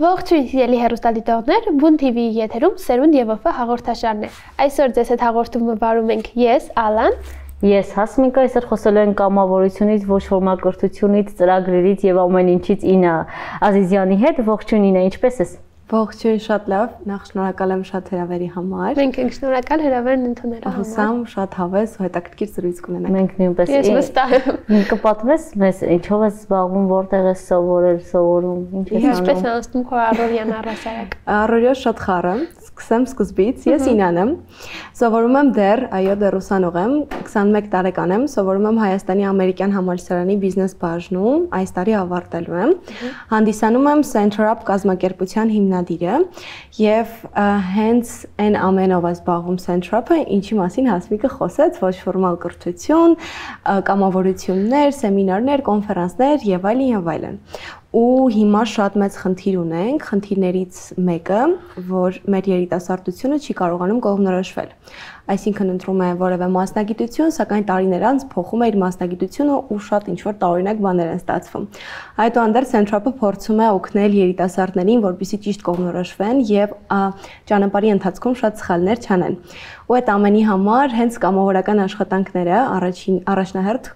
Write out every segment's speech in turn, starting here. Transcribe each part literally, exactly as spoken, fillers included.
Ողջույն սիրելի հեռուստադիտողներ, Բուն Թի Վի-ի եթերում Սերունդ եւ ՈՖ հաղորդաշարն է։ Այսօր ձեզ հետ հաղորդումը վարում ենք ես, Ալան, ես Հասմիկա, այսօր խոսելու ենք կամավորությունից, ոչ ֆորմալ կրթությունից, ծրագրերից եւ ամեն ինչից Ինա Ազիզյանի հետ։ Ողջույն Ինա, ինչպե՞ս ես։ Ողջույն, շատ լավ, նախ շնորհակալ եմ շատ հրավերի համար։ Մենք ենք շնորհակալ հրավերն ընդունելու համար։ Հուսամ շատ հավես ու հետաքրքիր զրույց կունենանք։ Մենք նույնպես։ Ես վստահ եմ։ Ինձ կպատմես մեզ ինչով ես զբաղվում, որտեղ ես սովորել, սովորում, ինչ ես անում։ Ինչպես է անցնում քո առօրյան առասարակ։ Առօրյա շատ խառը, սկսեմ սկզբից, ես Ինան եմ։ Սովորում եմ դեռ, այո, դեռ ուսանող եմ, քսանմեկ տարեկան եմ, սովորում եմ Հայաստանի ամերիկյան համալսարանի բիզնես բաժնում, այս տարի ավարտելու եմ։ Հանդիսանում եմ Center Up կազմակերպության հիմնադիրը եւ հենց այն ամենով է զբաղվում Center Up-ը, ինչի մասին Հասմիկը խոսեց, ոչ ֆորմալ կրթություն, կամավորություններ, սեմինարներ, կոնֆերանսներ եւ այլն եւ այլն։ Ու հիմա շատ մեծ խնդիր ունենք, խնդիրներից մեկը, որ մեր երիտասարդությունը չի կարողանում կողմնորոշվել։ Այսինքն ընտրում է որևէ մասնագիտություն, սակայն տարիներ անց փոխում է իր մասնագիտությունը ու շատ ինչ-որ տարօրինակ բաներ են ստացվում։ Այդուհանդերձ Center Up-ը փորձում է օգնել երիտասարդներին, որպեսզի ճիշտ կողմնորոշվեն եւ ճանապարհի ընթացքում շատ սխալներ չանեն։ Ու այդ ամենի համար հենց կամավորական աշխատանքները առաջին առաջնահերթ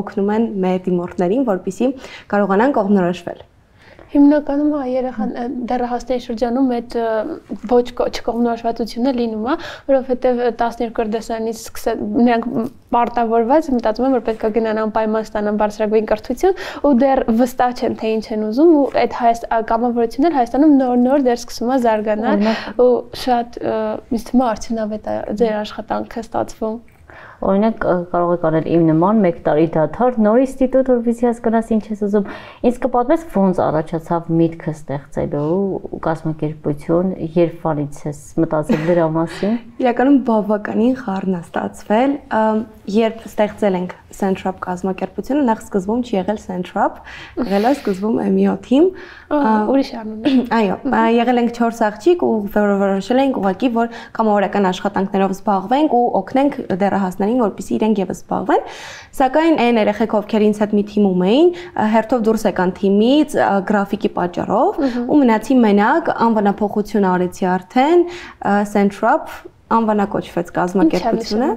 օգնում են մեր դիմորդներին, որպեսզի կարողանան կողմնորոշվել։ Հիմնականում երեխան դեռահասների շրջանում այդ ոչ չկողմնորոշվածությունը լինում է, որովհետև տասներկու դեսյանից սկսած նրանք պարտավորված մտածում են, որ պետք է գնան անպայման ստանան բարձրագույն կրթություն ու դեռ վստահ չեն թե ինչ են ուզում ու այդ կամավորությունները Հայաստանում նոր-նոր դեռ սկսում է զարգանալ ու շատ ինձ թվում է արդյունավետ է ձեր աշխատանքը ստացվում։ Օրինակ կարող եք անել իմ նման մեկ տարի դադար, նոր ինստիտուտ, որպեսզի հասկանաս ինչ ես ուզում։ Ինձ կպատմես ոնց առաջացավ միտքը ստեղծելու կազմակերպություն, երբանից ես մտածել դրա մասին։ Իրականում բավականին խառն է ստացվել, երբ ստեղծել ենք Center Up կազմակերպությունը, նախ սկզբում չի եղել Center Up, եղել է սկզբում Էմ ի օ Թիմ, ուրիշ անուն է։ Այո, եղել ենք չորս աղջիկ ու որոշել ենք ուղղակի, որ կամավորական աշխատանքներով զբաղվենք ու օգնենք դեռահասներին, որպեսզի իրենք եւս զբաղվեն, սակայն այն երեխեք, ովքեր ինձ հետ մի թիմում էին, հերթով դուրս եկան թիմից գրաֆիկի պատճառով ու մնացի մենակ, անվանափոխություն արեցի արդեն Center Up անվանակոչվեց կազմակերպությունը։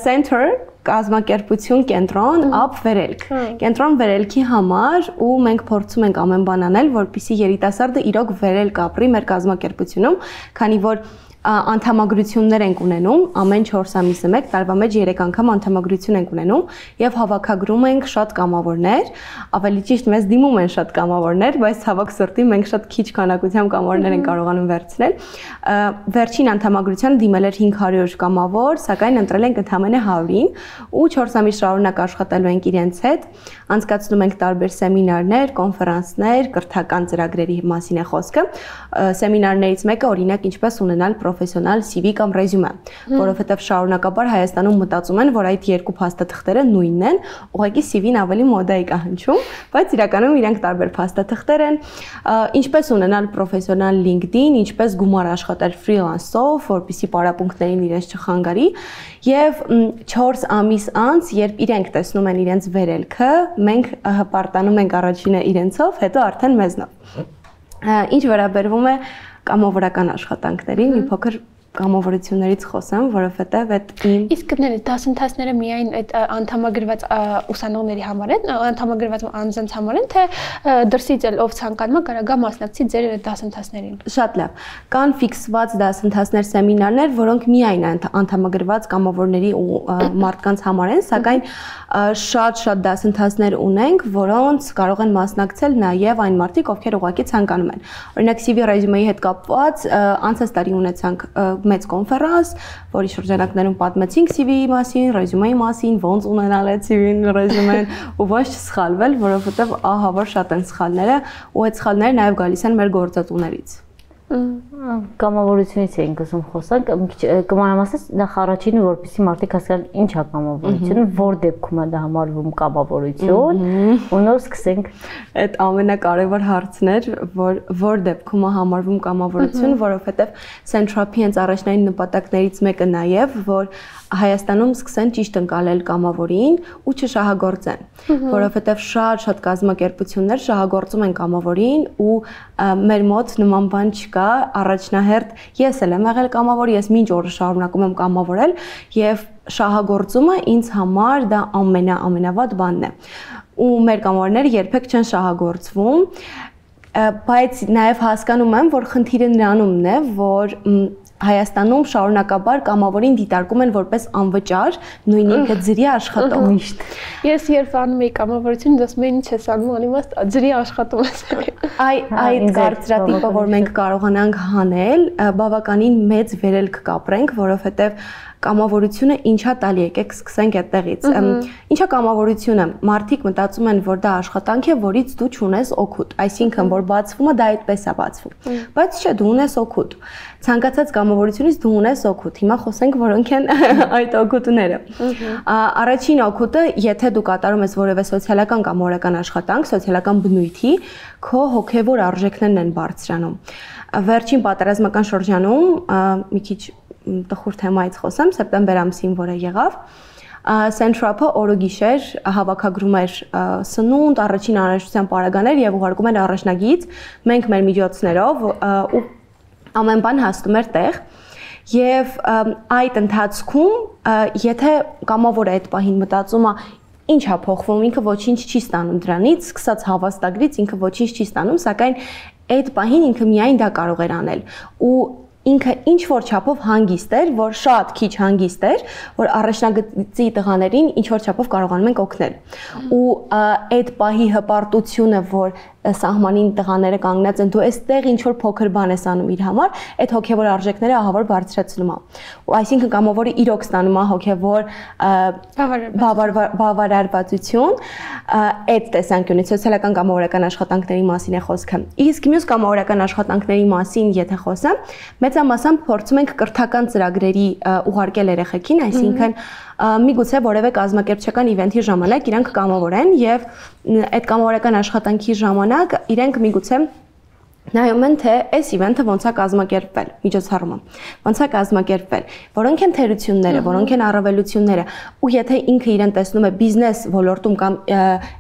Center կազմակերպություն կենտրոն, Up վերելք։ Կենտրոն վերելքի համար ու մենք փորձում ենք ամեն բան անել, որպեսզի երիտասարդը իրոք վերելք ապրի մեր կազմակերպությունում, քանի որ անդամագրություններ ենք ունենում, ամեն չորս ամիսը մեկ տարվա մեջ երեք անգամ անդամագրություն ենք ունենում եւ հավաքագրում ենք շատ կամավորներ, ավելի ճիշտ մեզ դիմում են շատ կամավորներ, բայց ցավոք սրտի մենք շատ քիչ քանակությամբ կամավորներ ենք կարողանում վերցնել։ Վերջին անդամագրության դիմել էր հինգ հարյուր կամավոր, սակայն ընտրել ենք ընդամենը հարյուրին ու չորս ամիս շարունակ աշխատելու ենք իրենց հետ, անցկացնում ենք տարբեր սեմինարներ, կոնֆերանսներ, կրթական ծրագրերի մասին է խոսքը։ Սեմինարներից մեկը օրինակ ինչպես ունենալ պրոֆեսիոնալ սի վի կամ ռեզյումե, որովհետև շարունակաբար Հայաստանում մտածում են, որ այդ երկու փաստաթղթերը նույնն են, ուղղակի սի վին ավելի մոդայիկ է հնչում, բայց իրականում իրենք տարբեր փաստաթղթեր են, ինչպես ունենալ պրոֆեսիոնալ LinkedIn, ինչպես գումար աշխատել ֆրիլանսով, որպեսզի պարապմունքներին իրենց չխանգարի, եւ չորս ամիս անց, երբ իրենք տեսնում են իրենց վերելքը, մենք հպարտանում ենք առաջինը իրենցով, հետո արդեն մեզնով։ Ինչ վերաբերվում է կամավորական աշխատանքներին, մի փոքր կամավորություններից խոսեմ, որովհետև այդ իմ Իսկ կներեք, դասընթացները միայն այդ անդամագրված ուսանողների համար են, անդամագրված անձանց համար են, թե դրսից էլ ով ցանկանում է կարող է մասնակցի ձեր դասընթացներին։ Շատ լավ։ Կան ֆիքսված դասընթացներ, սեմինարներ, որոնք միայն անդամագրված կամավորների ու մարդկանց համար են, սակայն շատ-շատ դասընթացներ ունենք, որոնց կարող են մասնակցել նաև այն մարդիկ, ովքեր ուղղակի ցանկանում են։ Օրինակ սի վի ռեզյումեի հետ կապված անցած տարի ունեցանք մեծ կոնֆերանս, որի շրջանակներում պատմեցինք սի վիի մասին, ռեզյումեի մասին, ոնց ունենալ այդ սի վին, ռեզյումեն ու ոչ չսխալվել, որովհետև ահա որ շատ են սխալները ու այդ սխալները նաև գալիս են մեր գործատուներից։ Կամավորությունից էինք ուզում խոսանք, կմանրամասնից նախ առաջինը որպեսզի մարդիկ հասկանան ինչ է կամավորությունը, որ դեպքում է դա համարվում կամավորություն, ու նոր սկսենք։ Այդ ամենակարևոր հարցն էր, որ որ դեպքում է համարվում կամավորություն, որովհետև Central-ի հենց առաջնային նպատակներից մեկը նաև, որ Հայաստանում սկսեն ճիշտ ընկալել կամավորին ու չշահագործեն, որովհետև շատ-շատ կազմակերպություններ շահագործում են կամավորին ու մեր մոտ նման բան չկա, առաջնահերթ ես էլ եմ եղել կամավոր, ես մինչ օրը շարունակում եմ կամավորել եւ շահագործումը ինձ համար դա ամենա ամենավատ բանն է։ Ու մեր կամավորները երբեք չեն շահագործվում, բայց նաև հասկանում եմ, որ խնդիրը նրանումն է, որ Հայաստանում շարունակաբար կամավորին դիտարկում են որպես անվճար, նույն ինքը ջրի աշխատող միշտ։ Ես երբ անում եի կամավորություն, ասում էին ինչ ես անում, անիմաստ ջրի աշխատում ես։ Այ այդ կարծրատիպը, որ մենք կարողանանք հանել, բավականին մեծ վերելք կապրենք, որովհետև կամավորությունը ինչա տալի, եկեք սկսենք այդտեղից։ Ինչա կամավորությունը։ Մարդիկ մտածում են, որ դա աշխատանք է, որից դու չունես օգուտ, այսինքն որ բացվում է, դա այդպես է բացվում։ Բայց չէ, դու ունես օգուտ։ Ցանկացած կամավորությունից դու ունես օգուտ։ Հիմա խոսենք, որոնք են այդ օգուտները։ Առաջին օգուտը, եթե դու կատարում ես որևէ սոցիալական կամ մորական աշխատանք, սոցիալական բնույթի, քո հոգևոր արժեքներն են բարձրանում։ Վերջին պատերազմական շրջանում մի քիչ տխուր թեմայից խոսեմ, սեպտեմբեր ամսին, որը եղավ, Central-ը օրոգիշեր հավաքագրում էր սնունդ, առաջին անհրաժեշտության պարագաներ եւ ուղարկում էր առաջնագիծ, մենք մեր միջոցներով ու ամեն բան հասնում էր տեղ եւ այդ ընթացքում եթե կամավորը այդ պահին մտածում է ինչ է փոխվում, ինքը ոչինչ չի ստանում դրանից, սկսած հավաստագրից ինքը ոչինչ չի ստանում, սակայն այդ պահին ինքը միայն դա կարող էր անել ու ինքը ինչ որ չափով հանգիստ էր, որ շատ քիչ հանգիստ էր, որ առաջնագծի տղաներին ինչ որ չափով կարողանում ենք օգնել։ Ու այդ պահի հպարտությունը, որ սահմանին տղաները կանգնած են, դու այստեղ ինչ որ փոքր բան ես անում իր համար, այդ հոգևոր արժեքները ահավոր բարձրացնում է։ Ու այսինքն կամավորը իրոք ստանում է հոգևոր բավարարվածություն, այդ տեսանկյունից սոցիալական կամավորական աշխատանքների մասին է խոսքը։ Իսկ մյուս կամավորական աշխատանքների մասին եթե խոսեմ, մեծամասամբ փորձում ենք կրթական ծրագրերի ուղարկել երեխեքին, այսինքն միգուցե որևէ կազմակերպչական իվենթի ժամանակ իրանք կամավոր են եւ այդ կամավորական աշխատանքի ժամանակ իրենք միգուցե նայում են թե այս իվենթը ոնց է կազմակերպվել, միջոցառումը, ոնց է կազմակերպվել, որոնք են թերությունները, որոնք են առավելությունները, ու եթե ինքը իրեն տեսնում է բիզնես ոլորտում կամ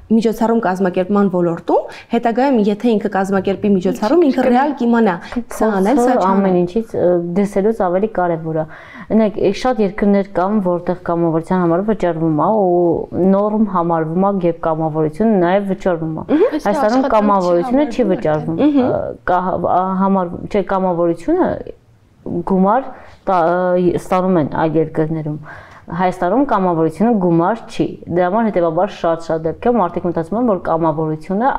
միջոցառում կազմակերպման ոլորտում, հետագայում եթե ինքը կազմակերպի միջոցառում, ինքը ռեալ կիմանա սա անել, սա չանել։ Ամեն ինչից դեսելուց ավելի կարևոր է։ Օրինակ, շատ երկրներ կան, որտեղ կամավորության համար վճարվում է ու նորմ համարվում է եւ կամավորությունը նաեւ վճարվում է։ Հայաստանում կամավորությունը չի վճարվում։ Համար չէ կամավորությունը գումար ստանում են այլ երկրներում։ Հայաստանում կամավորությունը գումար չի։ Դրա համար հետեւաբար շատ-շատ դեպքեր մարդիկ մտածում են, որ կամավորությունը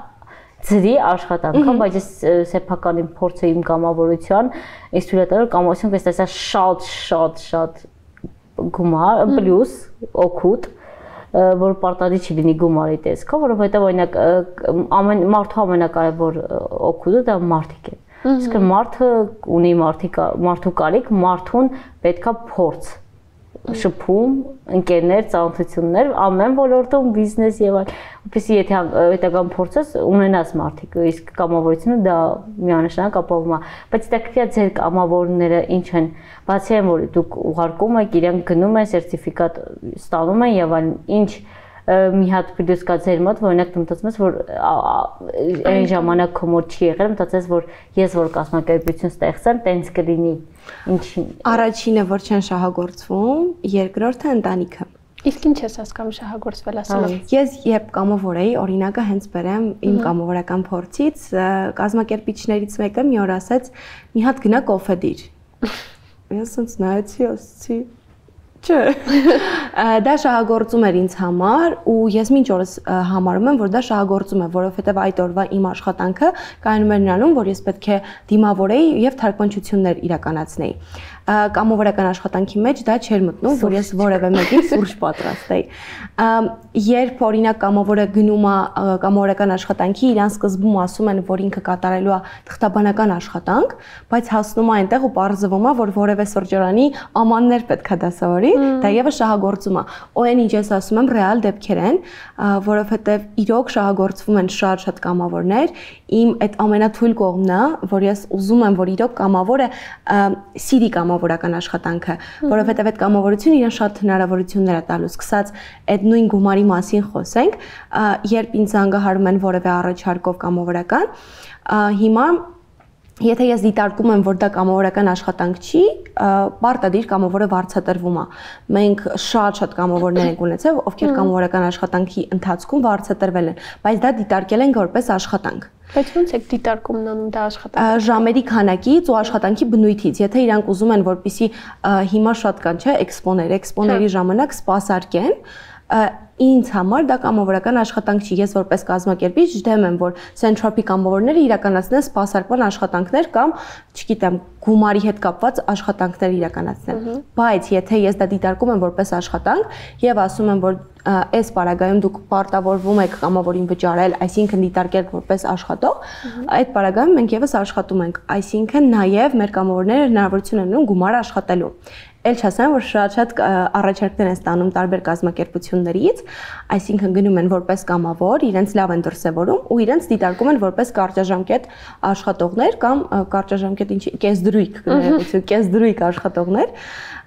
ծրի աշխատանք, բայց ես սեփականին փորձը իմ կամավորության, ես թույլ տալու կամավորություն կստացա շատ շատ շատ գումար, պլյուս օգուտ, որ պարտադիր չի լինի գումարի տեսքով, որովհետև օրինակ ամեն մարդու ամենակարևոր օգուտը դա մարդիկ է։ Իսկ մարդը ունի մարդու կարիք, մարդուն պետքա փորձ շփում, ընկերներ, ծանոթություններ, ամեն ոլորտում բիզնես եւ այլ, որպեսզի եթե հետագան փորձես ունենաս մարդիկ, իսկ կամավորությունը դա միանշանակ ապահովում է, բայց դա ձեր կամավորները ինչ են, բացի այն որ դուք ուղարկում եք, իրենք գնում են, սերտիֆիկատ ստանում են եւ այլն, ինչ մի հատ պլյուս կա ձեր մոտ, որ օրինակ դու մտածում ես, որ այն ժամանակ քո մոտ չի եղել, մտածես, որ ես որ կազմակերպություն ստեղծեմ, տենց կլինի։ Ինչին։ Առաջինը, որ չեն շահագործվում, երկրորդը ընտանիքը։ Իսկ ինչ ես հասկանում շահագործվել ասելով։ Ես երբ կամավոր էի, օրինակը հենց բերեմ իմ կամավորական փորձից, կազմակերպիչներից մեկը մի օր ասաց՝ մի հատ գնա կոֆե դիր։ Ես ասեցի, նայեցի, ասեցի Չէ։ Դա շահագործում էր ինձ համար ու ես մինչ օրս համարում եմ, որ դա շահագործում է, որովհետև այդ օրվա իմ աշխատանքը կայանում էր նրանում, որ ես պետք է դիմավորեի եւ թարգմանչություններ իրականացնեի։ Կամավորական աշխատանքի մեջ դա չէր մտնում, որ ես որևէ մեկին սուրճ պատրաստեի։ Երբ օրինակ կամավորը գնում է կամավորական աշխատանքի, իրան սկզբում ասում են, որ ինքը կատարելու է թղթաբանական աշխատանք, բայց հասնում է այնտեղ ու պարզվում է, որ որևէ սրճարանի ամաններ պետք է դասավորի, դա եւս շահագործում է։ Ու այն ինչ ես ասում եմ, ռեալ դեպքեր են, որովհետեւ իրոք շահագործվում են շատ-շատ կամավորներ։ Իմ այդ ամենաթույլ կողմն է, որ ես ուզում եմ, որ իրոք կամավորը սիրի կամավորական աշխատանքը, որովհետև այդ կամավորությունը իրեն շատ հնարավորություններ է տալու, սկսած այդ նույն գումարի մասին խոսենք, երբ ինձ զանգահարում են որևէ առաջարկով կամավորական, հիմա եթե ես դիտարկում եմ, որ դա կամավորական աշխատանք չի, պարտադիր կամավորը վարձատրվում է։ Մենք շատ-շատ կամավորներ ենք ունեցել, ովքեր կամավորական աշխատանքի ընթացքում վարձատրվել են, բայց դա դիտարկել ենք որպես աշխատանք։ Բայց ո՞նց եք դիտարկում նանում դա աշխատանքը։ Ժամերի քանակից ու աշխատանքի բնույթից, եթե իրանք ուզում են, որպեսզի հիմա շատ կան, չէ, էքսպոներ, էքսպոների ժամանակ սպասարկեն, ինձ համար դա կամավորական աշխատանք չի, ես որպես կազմակերպիչ դեմ եմ, որ Centropy կամավորները իրականացնեն սպասարկման աշխատանքներ կամ, չգիտեմ, գումարի հետ կապված աշխատանքներ իրականացնեն։ Բայց եթե ես դա դիտարկում եմ որպես աշխատանք եւ ասում եմ, որ այս պարագայում դուք պարտավորվում եք կամավորին վճարել, այսինքն դիտարկել որպես աշխատող, այդ պարագայում մենք եւս աշխատում ենք, այսինքն նաեւ մեր կամավորները հնարավորություն են ունենում գումար աշխատելու։ Էլ չասեմ, որ շատ-շատ առաջարկներ են ստանում տարբեր կազմակերպություններից, այսինքն գնում են որպես կամավոր, իրենց լավ են դրսևորում ու իրենց դիտարկում են որպես կարճաժամկետ աշխատողներ կամ կարճաժամկետ ինչի կեսդրույք, կեսդրույք աշխատողներ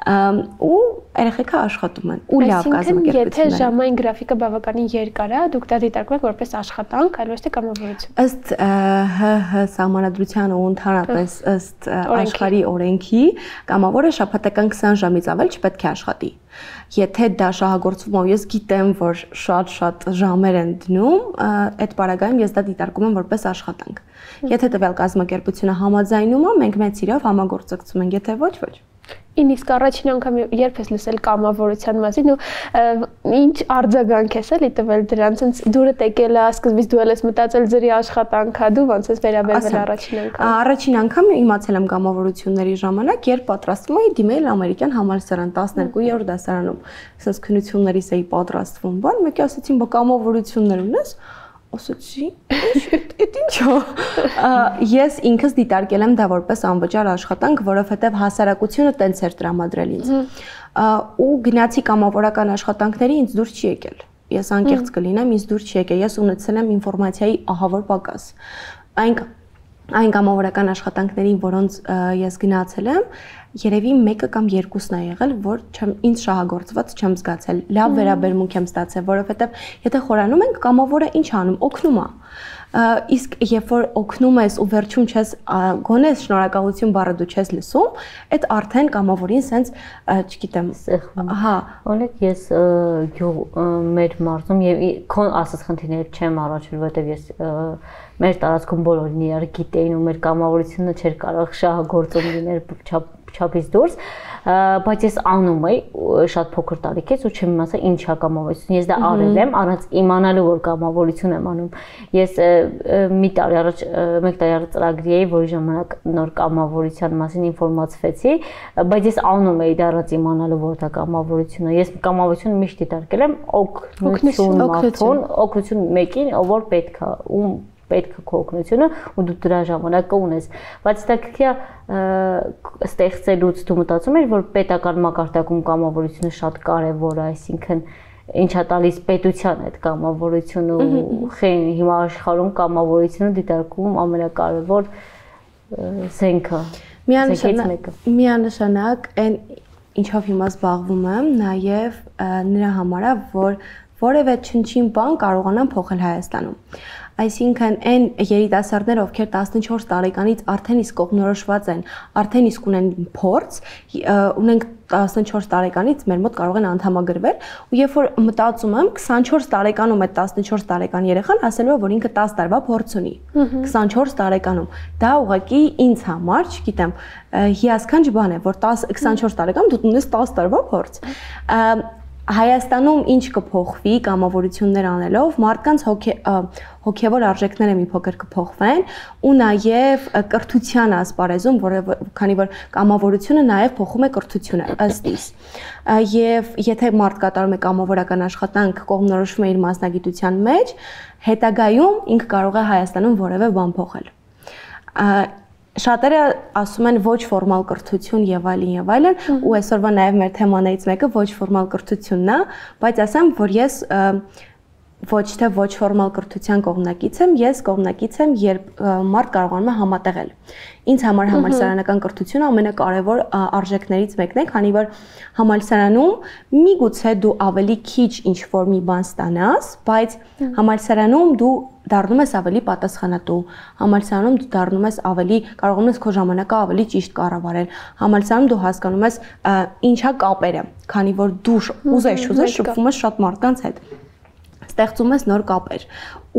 ու երեխեքը աշխատում են ու լավ կազմակերպություններ։ Եթե ժամային գրաֆիկը բավականին երկար է, դուք դա դիտարկում եք որպես աշխատանք, այլ ոչ թե կամավորություն։ Ըստ ՀՀ սահմանադրության ու ընդհանրապես ըստ աշխարհի օրենքի, կամավորը շաբաթական քսան ժամից ավել չպետք է աշխատի։ Եթե դա շահագործվում է, ես գիտեմ, որ շատ-շատ ժամեր են դնում, այդ պարագայում ես դա դիտարկում եմ որպես աշխատանք։ Եթե տվյալ կազմակերպությունը համաձայնում է, մենք մեծ սիրով համագործակցում ենք, եթե ոչ, ոչ։ Իսկ առաջին անգամ երբ ես լսել կամավորության մասին ու ինչ արձագանք ես էլի տվել դրանց, ոնց դուրդ եկել է, սկզբից դու ես մտածել ձրի աշխատանքա, դու ոնց ես վերաբերվել առաջին անգամ։ Առաջին անգամ իմացել եմ կամավորությունների ժամանակ, երբ պատրաստվում էի դիմել ամերիկյան համալսարան տասներկուերորդ դասարանում, ասես քննություններից էի պատրաստվում, բան, մեկի ասեցին, բա կամավորություններ ունես։ Ասացի, այդ ինչ է։ Ես ինքս դիտարկել եմ դա որպես անվճար աշխատանք, որովհետև հասարակությունը տենց էր տրամադրել ինձ։ Ու գնացի կամավորական աշխատանքների ինձ դուր չի եկել։ Ես անկեղծ կլինեմ, ինձ դուր չի եկել։ Ես ունեցել եմ ինֆորմացիայի ահավոր պակաս։ Այն այն կամավորական աշխատանքներին, որոնց ես գնացել եմ, երևի մեկը կամ երկուսն է եղել, որ ինձ շահագործված չեմ զգացել, լավ վերաբերմունք եմ ստացել, որովհետև եթե խորանում ենք, կամավորը ինչ անում, օգնում է։ Իսկ երբ որ օգնում ես ու վերջում չես գոնե շնորհակալություն բառը դու չես լսում, այդ արդեն կամավորին սենց, չգիտեմ, հա, օրինակ ես մեր մարզում եւ քոն ասած խնդիրներ չեմ առաջել, որովհետեւ ես մեր տարածքում բոլորին իրար գիտեին ու մեր կամավորությունը չէր կարող շահագործում լինել չափից դուրս, բայց ես անում էի շատ փոքր տարիքից ու չեմ իմացա ինչ է կամավորություն։ Ես դա արել եմ առանց իմանալու որ կամավորություն եմ անում։ Ես մի տարի առաջ մեկ տարի առաջ ծրագրի էի, որի ժամանակ նոր կամավորության մասին ինֆորմացվեցի, բայց ես անում էի դա առանց իմանալու որ դա կամավորություն է։ Ես կամավորությունը միշտ դիտարկել եմ օգնություն մարդուն, օգնություն մեկին, որ պետք է ու պետք է քո օգնությունը ու դու դրա ժամանակը ունես, բայց դա քիչ ստեղծելուց դու մտածում ես, որ պետական մակարդակում կամավորությունը շատ կարևոր է, այսինքն ինչա տալիս պետության այդ կամավորությունը ու հիմա աշխարհում կամավորությունը դիտարկում ամենակարևոր զենքը։ Միանշանակ այն ինչով հիմա զբաղվում եմ, նաև նրա համար է, որ որևէ չնչին բան կարողանան փոխել Հայաստանում։ Այսինքն այն երիտասարդները, ովքեր տասնչորս տարեկանից արդեն իսկ կողմնորոշված են, արդեն իսկ ունեն փորձ, ունենք տասնչորս տարեկանից մեր մոտ կարող են անդամագրվել, ու երբ որ մտածում եմ քսանչորս տարեկանում այդ տասնչորս տարեկան երեխան ասելու է, որ ինքը տասը տարվա փորձ ունի։ քսանչորս տարեկանում։ Դա ուղղակի ինձ համար, չգիտեմ, հիասքանչ բան է, որ քսանչորս տարեկանում դու ունես տասը տարվա փորձ։ Հայաստանում ինչ կփոխվի կամավորություններ անելով, մարդկանց հոգևոր արժեքները մի փոքր կփոխվեն ու նաև կրթության ասպարեզում, որը քանի որ կամավորությունը նաև փոխում է կրթությունը ըստ իս։ Եվ եթե մարդ կատարում է կամավորական աշխատանք, կողմնորոշվում է իր մասնագիտության մեջ, հետագայում ինքը կարող է Հայաստանում որևէ բան փոխել։ Շատերը ասում են ոչ ֆորմալ կրթություն եւ այլն եւ այլն, ու այսօրվա նաեւ մեր թեմաներից մեկը ոչ ֆորմալ կրթությունն է, բայց ասեմ, որ ես ոչ թե ոչ ֆորմալ կրթության կողմնակից եմ, ես կողմնակից եմ, երբ մարդ կարողանում է համատեղել։ Ինձ համար համալսարանական կրթությունը ամենակարևոր արժեքներից մեկն է, քանի որ համալսարանում միգուցե դու ավելի քիչ ինչ-որ մի բան ստանաս, բայց համալսարանում դու դառնում ես ավելի պատասխանատու, համալսարանում դու դառնում ես ավելի, կարողանում ես քո ժամանակը ավելի ճիշտ կառավարել, համալսարանում դու հասկանում ես ինչա կապերը, քանի որ դու ուզես ուզես շփվում ես շատ մարդկանց հետ, ստեղծում ես նոր կապեր,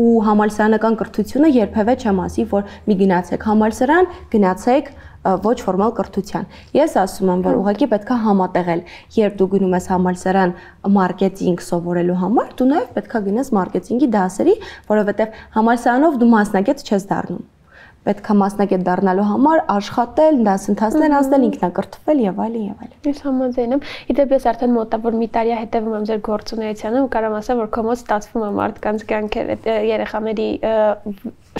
ու համալսարանական կրթությունը երբևէ չեմ ասի, որ մի գնացեք համալսարան, գնացեք ոչ ֆորմալ կրթության։ Ես ասում եմ, որ ուղղակի պետք է համատեղել, երբ դու գնում ես համալսարան մարքեթինգ սովորելու համար, դու նաև պետք է գնաս մարքեթինգի դասերի, որովհետև համալսարանով դու մասնագետ չես դառնում։ Պետք է մասնագետ դառնալու համար աշխատել, դասընթացներ անցնել, ինքնակրթվել եւ այլն եւ այլն։ Ես համաձայն եմ։ Իդեպ ես արդեն մոտավոր մի տարի հետևում եմ ձեր գործունեությանը ու կարող ասեմ, որ քո մոտ ստացվում է մարդկանց կյանքերը, երեխաների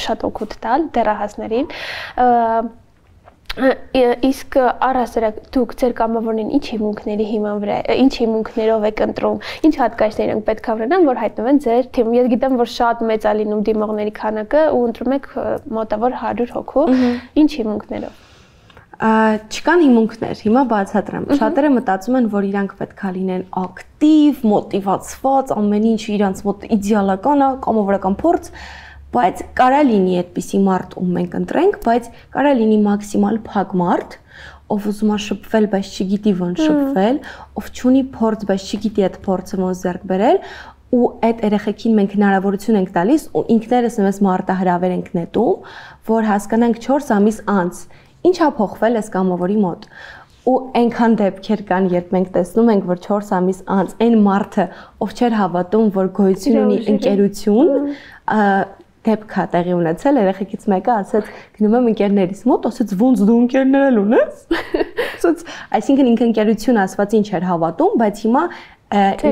շատ օգուտ տալ, դեռահասներին։ Իսկ առհասարակ դուք ձեր կամավորներին ինչ հիմունքների հիման վրա, ինչ հիմունքներով եք ընտրում, ինչ հատկայցներ են պետք է ունենան, որ հայտնվեն ձեր թիմում։ Ես գիտեմ, որ շատ մեծ է լինում դիմողների քանակը ու ընտրում եք մոտավոր հարյուր հոգու, ինչ հիմունքներով։ Չկան հիմունքներ, հիմա բացատրեմ։ Շատերը մտածում են, որ իրանք պետք է լինեն ակտիվ, մոտիվացված, ամեն ինչ իրանց մոտ իդեալական է, կամավորական փորձ, բայց կարա լինի այդպիսի մարդ, ում մենք ընտրենք, բայց կարա լինի մաքսիմալ փակ մարդ, ով ուզում է շփվել, բայց չգիտի ոնց շփվել, ով չունի փորձ, բայց չգիտի այդ փորձը ոնց ձեռք բերել, ու այդ երեխեքին մենք հնարավորություն ենք տալիս, ու ինքներս մեզ մարտահրավեր ենք նետում, որ հասկանանք չորս ամիս անց ինչ է փոխվել այս կամավորի մոտ։ Ու այնքան դեպքեր կան, երբ մենք տեսնում ենք, որ չորս ամիս անց այն մարդը, ով չէր հավատում, որ գոյություն ունի ընկերություն, դեպք է տեղի ունեցել, երեխեքից մեկը ասեց, գնում եմ ընկերներիս մոտ, ասեց ոնց դու ընկերներ ունես։ Ասեց, այսինքն ինքը ընկերություն ասված ինչ էր հավատում, բայց հիմա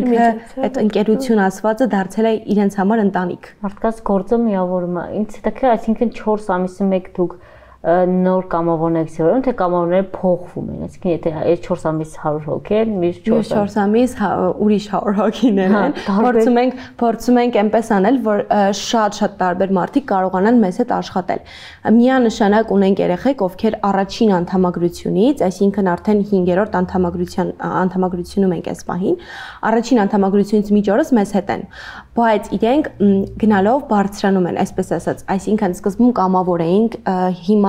ինքը այդ ընկերություն ասվածը դարձել է իրենց համար ընտանիք։ Մարդկանց գործը միավորում է։ Ինձ հետաքրքիր, այսինքն չորս ամիսի մեկ դուք նոր կամավորներ ցերում, թե կամավորները փոխվում են, այսինքն եթե այս չորս ամիս հարյուր հոգի են, մյուս չորս ամիս ուրիշ հարյուր հոգիներ են, փորձում ենք, փորձում ենք այնպես անել, որ շատ-շատ տարբեր մարդիկ կարողանան մեզ հետ աշխատել։ Միանշանակ ունենք երեխեք, ովքեր առաջին անդամագրությունից, այսինքն արդեն հինգերորդ անդամագրության անդամագրությունում ենք այս պահին, առաջին անդամագրությունից մինչ օրս մեզ հետ են, բայց իրենք գնալով բարձրանում են, այսպես ասած, այսինքն սկզբում կամավոր էինք, հիմա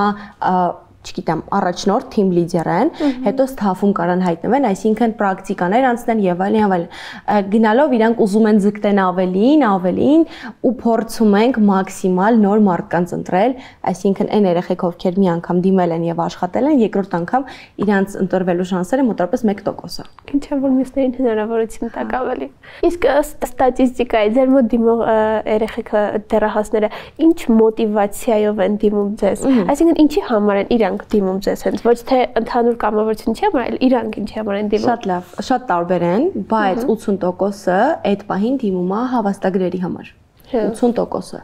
չգիտեմ, առաջնորդ թիմ լիդեր են, հետո ստաֆում կարան հայտնվեն, այսինքն պրակտիկաներ անցնեն եւ այլն եւ այլն։ Գնալով իրանք ուզում են ձգտեն ավելին, ավելին ու փորձում ենք մաքսիմալ նոր մարդկանց ընտրել, այսինքն այն երեխեք, ովքեր մի անգամ դիմել են եւ աշխատել են, երկրորդ անգամ իրանց ընտրվելու շանսերը մոտավորապես մեկ տոկոս է։ Ինչ է որ մյուսներին հնարավորություն տակ ավելի։ Իսկ ստատիստիկայի ձեր մոտ դիմող երեխեք դեռահասները ինչ մոտիվացիայով են դիմում ձեզ։ Այսինքն ինչի համար են իրանք դիմում ձեզ հենց ոչ թե ընդհանուր կամավորություն չի, այլ իրանք ինչի համար են դիմում։ Շատ լավ, շատ տարբեր են, բայց ութսուն տոկոսը այդ պահին դիմում է հավաստագրերի համար։ ութսուն տոկոսը։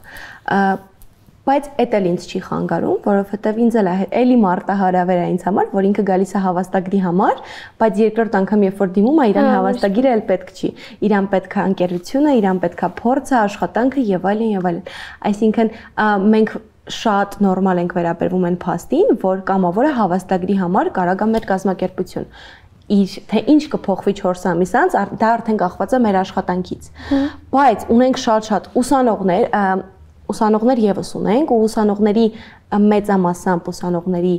Բայց էդ էլ ինձ չի խանգարում, որովհետև ինձ էլ էլի մարտահրավեր է ինձ համար, որ ինքը գալիս է հավաստագրի համար, բայց երկրորդ անգամ երբ որ դիմում է, իրան հավաստագիրը էլ պետք չի։ Իրան պետք է ընկերությունը, իրան պետք է փորձը, աշխատանքը եւ այլն եւ այլն։ Այսինքն մենք շատ նորմալ ենք վերաբերվում այն փաստին, որ կամավորը հավաստագրի համար կարող է մեր կազմակերպություն իր թե ինչ կփոխվի չորս ամիս անց, դա արդեն կախված է մեր աշխատանքից։ Բայց ունենք շատ-շատ ուսանողներ, ուսանողներ եւս ունենք ու ուսանողների մեծամասամբ ուսանողների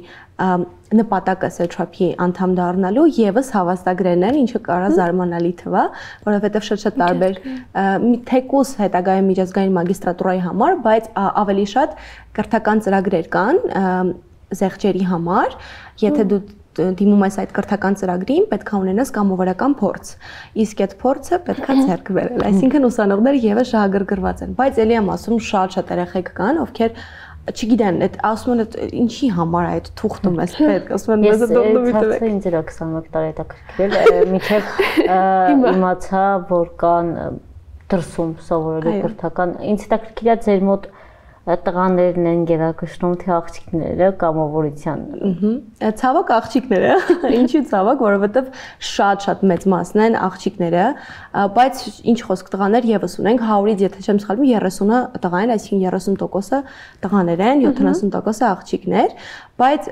նպատակը սեչափի անդամ դառնալու եւս հավաստագրերն են, ինչը կարա զարմանալի թվա, որովհետեւ շատ-շատ տարբեր թեկուս հետագայում միջազգային մագիստրատուրայի համար, բայց ավելի շատ կրթական ծրագրեր կան զեղչերի համար, եթե դու դիմում ես այդ կրթական ծրագրին, պետք է ունենաս կամավորական փորձ։ Իսկ այդ փորձը պետք է ձեռք բերել։ Այսինքն ուսանողները եւս շահագրգռված են, բայց ելի եմ ասում շատ-շատ երեխեք կան, ովքեր չգիտեն, այդ ասում են ինչի համար է այդ թուղթը մեզ պետք, ասում են մեզ դողնումի տվեք։ Ես ինձ էլ քսանմեկ տարի հետաքրքրել, մինչև իմացա, որ կան դրսում սովորելու կրթական, ինձ հետաքրքիր է ձեր մոտ տղաներն են գերակշռում թե աղջիկները կամավորության։ Ցավոք աղջիկները, ինչի ցավոք, որովհետև շատ-շատ մեծ մասն են աղջիկները, բայց ինչ խոսք տղաներ եւս ունենք, հարյուրից եթե չեմ սխալվում, երեսունը տղա են, այսինքն երեսուն տոկոսը տղաներ են, յոթանասուն տոկոսը աղջիկներ, բայց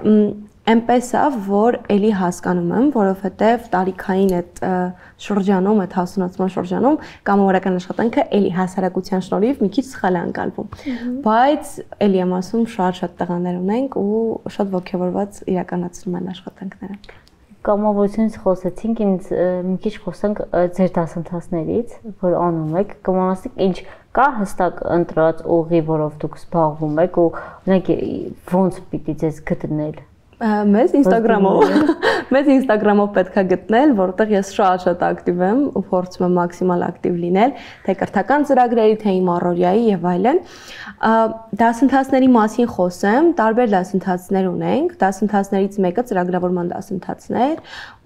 այնպես է, որ էլի հասկանում եմ, որովհետև տարիքային այդ շրջանում, այդ հասունացման շրջանում կամավորական աշխատանքը էլի հասարակության շնորհիվ մի քիչ սխալ է անցալվում։ Բայց էլի եմ ասում, շատ-շատ տղաներ ունենք ու շատ ողջավորված իրականացնում են աշխատանքները։ Կամավորությունից խոսեցինք, ինձ մի քիչ խոսենք ձեր դասընթացներից, որ անում եք, կմոռացեք ինչ կա հստակ ընտրած ուղի, որով դուք զբաղվում եք ու օրինակ ոնց պիտի ձեզ գտնել։ Մեզ Instagram-ով, մեզ Instagram-ով պետք է գտնել, որտեղ ես շատ-շատ ակտիվ եմ ու փորձում եմ մաքսիմալ ակտիվ լինել, թե կրթական ծրագրերի, թե իմ առօրյայի եւ այլն։ Դասընթացների մասին խոսեմ, տարբեր դասընթացներ ունենք, դասընթացներից մեկը ծրագրավորման դասընթացներ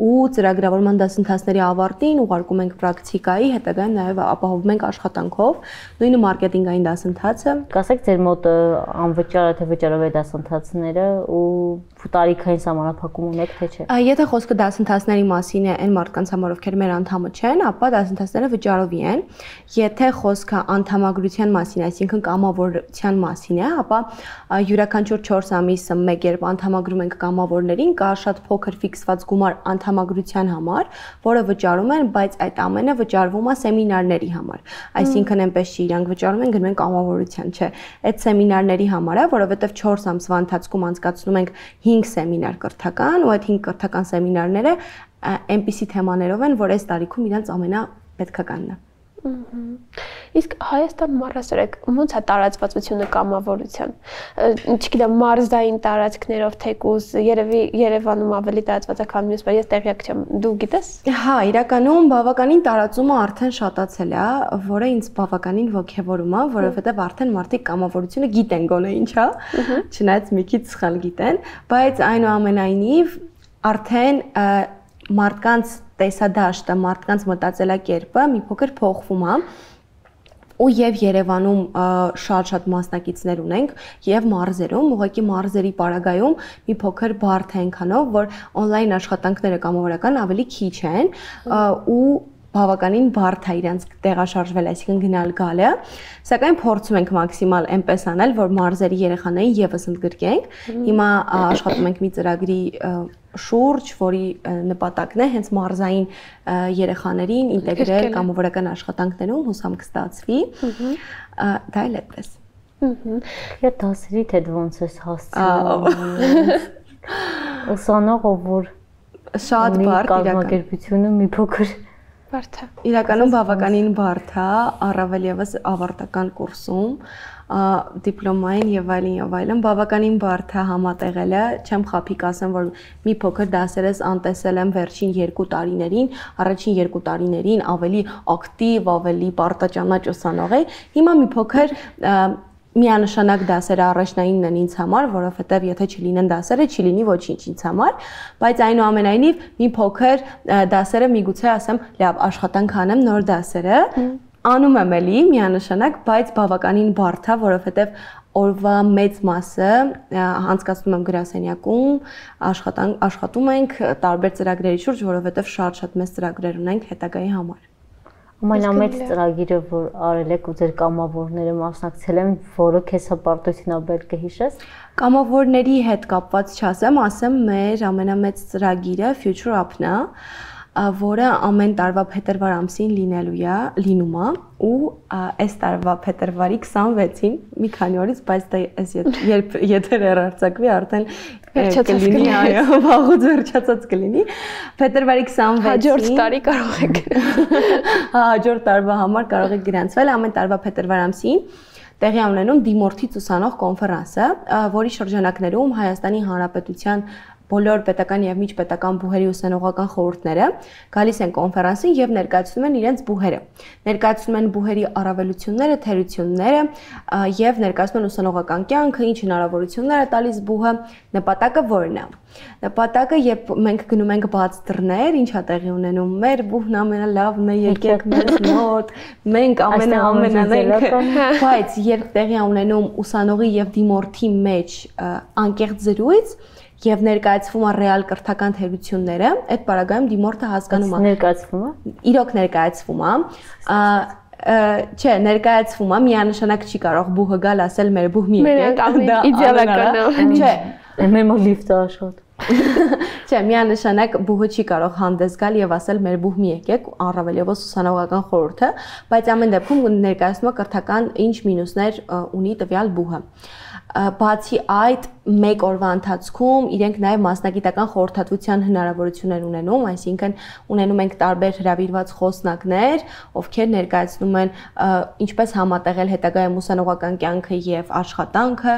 ու ծրագրավորման դասընթացների ավարտին ուղարկում ենք պրակտիկայի, հետագայում նաեւ ապահովում ենք աշխատանքով, նույնը մարքեթինգային դասընթացը։ Կասեք ձեր մոտ անվճար թե վճարով է դասընթացները ու տարիքային սահմանափակում ունեք թե չէ։ Եթե խոսքը դասընթացների մասին է, այն մարդկանց համար, ովքեր մեր անդամը չեն, ապա դասընթացները վճարովի են։ Եթե խոսքը անդամագրության մասին, այսինքն կամավորության մասին է, ապա յուրաքանչյուր չորս ամիսը մեկ երբ անդամագրում ենք կամավորներին, կա շատ փոքր ֆիքսված գումար անդամագրության համար, որը վճարում են, բայց այդ ամենը վճարվում է սեմինարների համար։ Այսինքն այնպես չի, իրանք վճարում են, գնում են կամավորության, չէ։ Այդ սեմինարների համար է, որովհետև չորս ամսվա ընթացքում անցկացնում ենք հինգ սեմինար կրթական ու այդ հինգ կրթական սեմինարները այնպիսի թեմաներով են, որ այս տարիքում իրանց ամենապետքականն է։ Իսկ Հայաստանում առասարակ ո՞նց է տարածվածությունը կամավորության։ Չգիտեմ, մարզային տարածքներով թեկուզ, երևի Երևանում ավելի տարածված է, քան մյուս, բայց ես տեղյակ չեմ։ Դու գիտես։ Հա, իրականում բավականին տարածումը արդեն շատացել է, որը ինձ բավականին ոգևորում է, որովհետև արդեն մարդիկ կամավորությունը գիտեն գոնե ինչ է, չնայած մի քիչ սխալ գիտեն, բայց այնուամենայնիվ արդեն մարդկանց տեսադաշտը, մարդկանց մտածելակերպը մի փոքր փոխվում է ու եւ Երևանում շատ-շատ մասնակիցներ ունենք եւ մարզերում, ուղղակի մարզերի պարագայում մի փոքր բարդ է այնքանով, որ on-line աշխատանքները կամավորական ավելի քիչ են ու բավականին բարդ է իրանց տեղաշարժվել, այսինքն գնալ գալը, սակայն փորձում ենք մաքսիմալ այնպես անել, որ մարզերի երեխաներին եւս ընդգրկենք։ Հիմա աշխատում ենք մի ծրագրի շուրջ, որի նպատակն է հենց մարզային երեխաներին ինտեգրել կամավորական աշխատանքներում, հուսամ կստացվի։ Դա էլ այդպես։ Ես դասերի թե ոնց ես հասցնում։ Ուսանողը որ շատ բարդ կազմակերպությունը մի փոքր բարդ է։ Իրականում բավականին բարդ է, առավել եւս ավարտական կուրսում, դիպլոմային եւ այլն եւ այլն բավականին բարդ է համատեղելը, չեմ խափիկ ասեմ, որ մի փոքր դասերս անտեսել եմ վերջին երկու տարիներին, առաջին երկու տարիներին ավելի ակտիվ, ավելի պարտաճանաչ ուսանող էի, հիմա մի փոքր միանշանակ դասերը առաջնայինն են ինձ համար, որովհետև եթե չլինեն դասերը, չի լինի ոչինչ ինձ համար, բայց այնուամենայնիվ մի փոքր դասերը միգուցե ասեմ, լավ, աշխատանք անեմ նոր դասերը, անում եմ էլի միանշանակ, բայց բավականին բարդ է, որովհետև օրվա մեծ մասը անցկացնում եմ գրասենյակում, աշխատում ենք տարբեր ծրագրերի շուրջ, որովհետև շատ-շատ մեծ ծրագրեր ունենք հետագայի համար։ Ամենամեծ ծրագիրը, որ արել եք ու ձեր կամավորները մասնակցել են, որը քեզ հպարտությունաբեր կհիշես։ Կամավորների հետ կապված չասեմ, ասեմ մեր ամենամեծ ծրագիրը Future Up-ն է, որը ամեն տարվա փետրվար ամսին լինելու է, լինում է ու այս տարվա փետրվարի քսանվեցին, մի քանի օրից, բայց դա այս երբ եթեր հեռարձակվի, արդեն կլինի, այո, վաղուց վերջացած կլինի։ Փետրվարի քսանվեցին հաջորդ տարի կարող եք հաջորդ տարվա համար կարող եք գրանցվել ամեն տարվա փետրվար ամսին տեղի ունենում դիմորդից ուսանող կոնֆերանսը, որի շրջանակներում Հայաստանի Հանրապետության բոլոր պետական եւ միջպետական բուհերի ուսանողական խորհուրդները գալիս են կոնֆերանսին եւ ներկայացնում են իրենց բուհերը։ Ներկայացնում են բուհերի առավելությունները, թերությունները եւ ներկայացնում են ուսանողական կյանքը, ինչ հնարավորություններ է տալիս բուհը, նպատակը որն է։ Նպատակը, երբ մենք գնում ենք բաց դռներ, ինչ է տեղի ունենում, մեր բուհն ամենալավն է, եկեք մեզ մոտ, մենք ամենաամենանենք, բայց երբ տեղի է ունենում ուսանողի եւ դիմորդի մեջ անկեղծ զրույց եւ ներկայացվում է ռեալ կրթական թերությունները, այդ բaragայում դիմորդը հասկանում է ներկայացվում է։ Իրոք ներկայացվում է, չէ, ներկայացվում է, միանշանակ չի կարող բուհը գալ ասել մեր բուհ մի եկեք, դա իդեալական է։ Չէ, մեր մոտ լիֆտը աշխատում։ Չէ, միանշանակ բուհը չի կարող հանդես գալ եւ ասել մեր բուհ մի եկեք, առավել եւս ուսանողական խորհուրդը, բայց ամեն դեպքում ներկայացնում է կրթական ինչ մինուսներ ունի տվյալ բուհը։ Բացի այդ, մեկ օրվա ընթացքում իրենք նաև մասնագիտական խորհրդատվության հնարավորություններ ունենում, այսինքն ունենում ենք տարբեր հրավիրված խոսնակներ, ովքեր ներկայացնում են ինչպես համատեղել հետագայում ուսանողական կյանքը եւ աշխատանքը,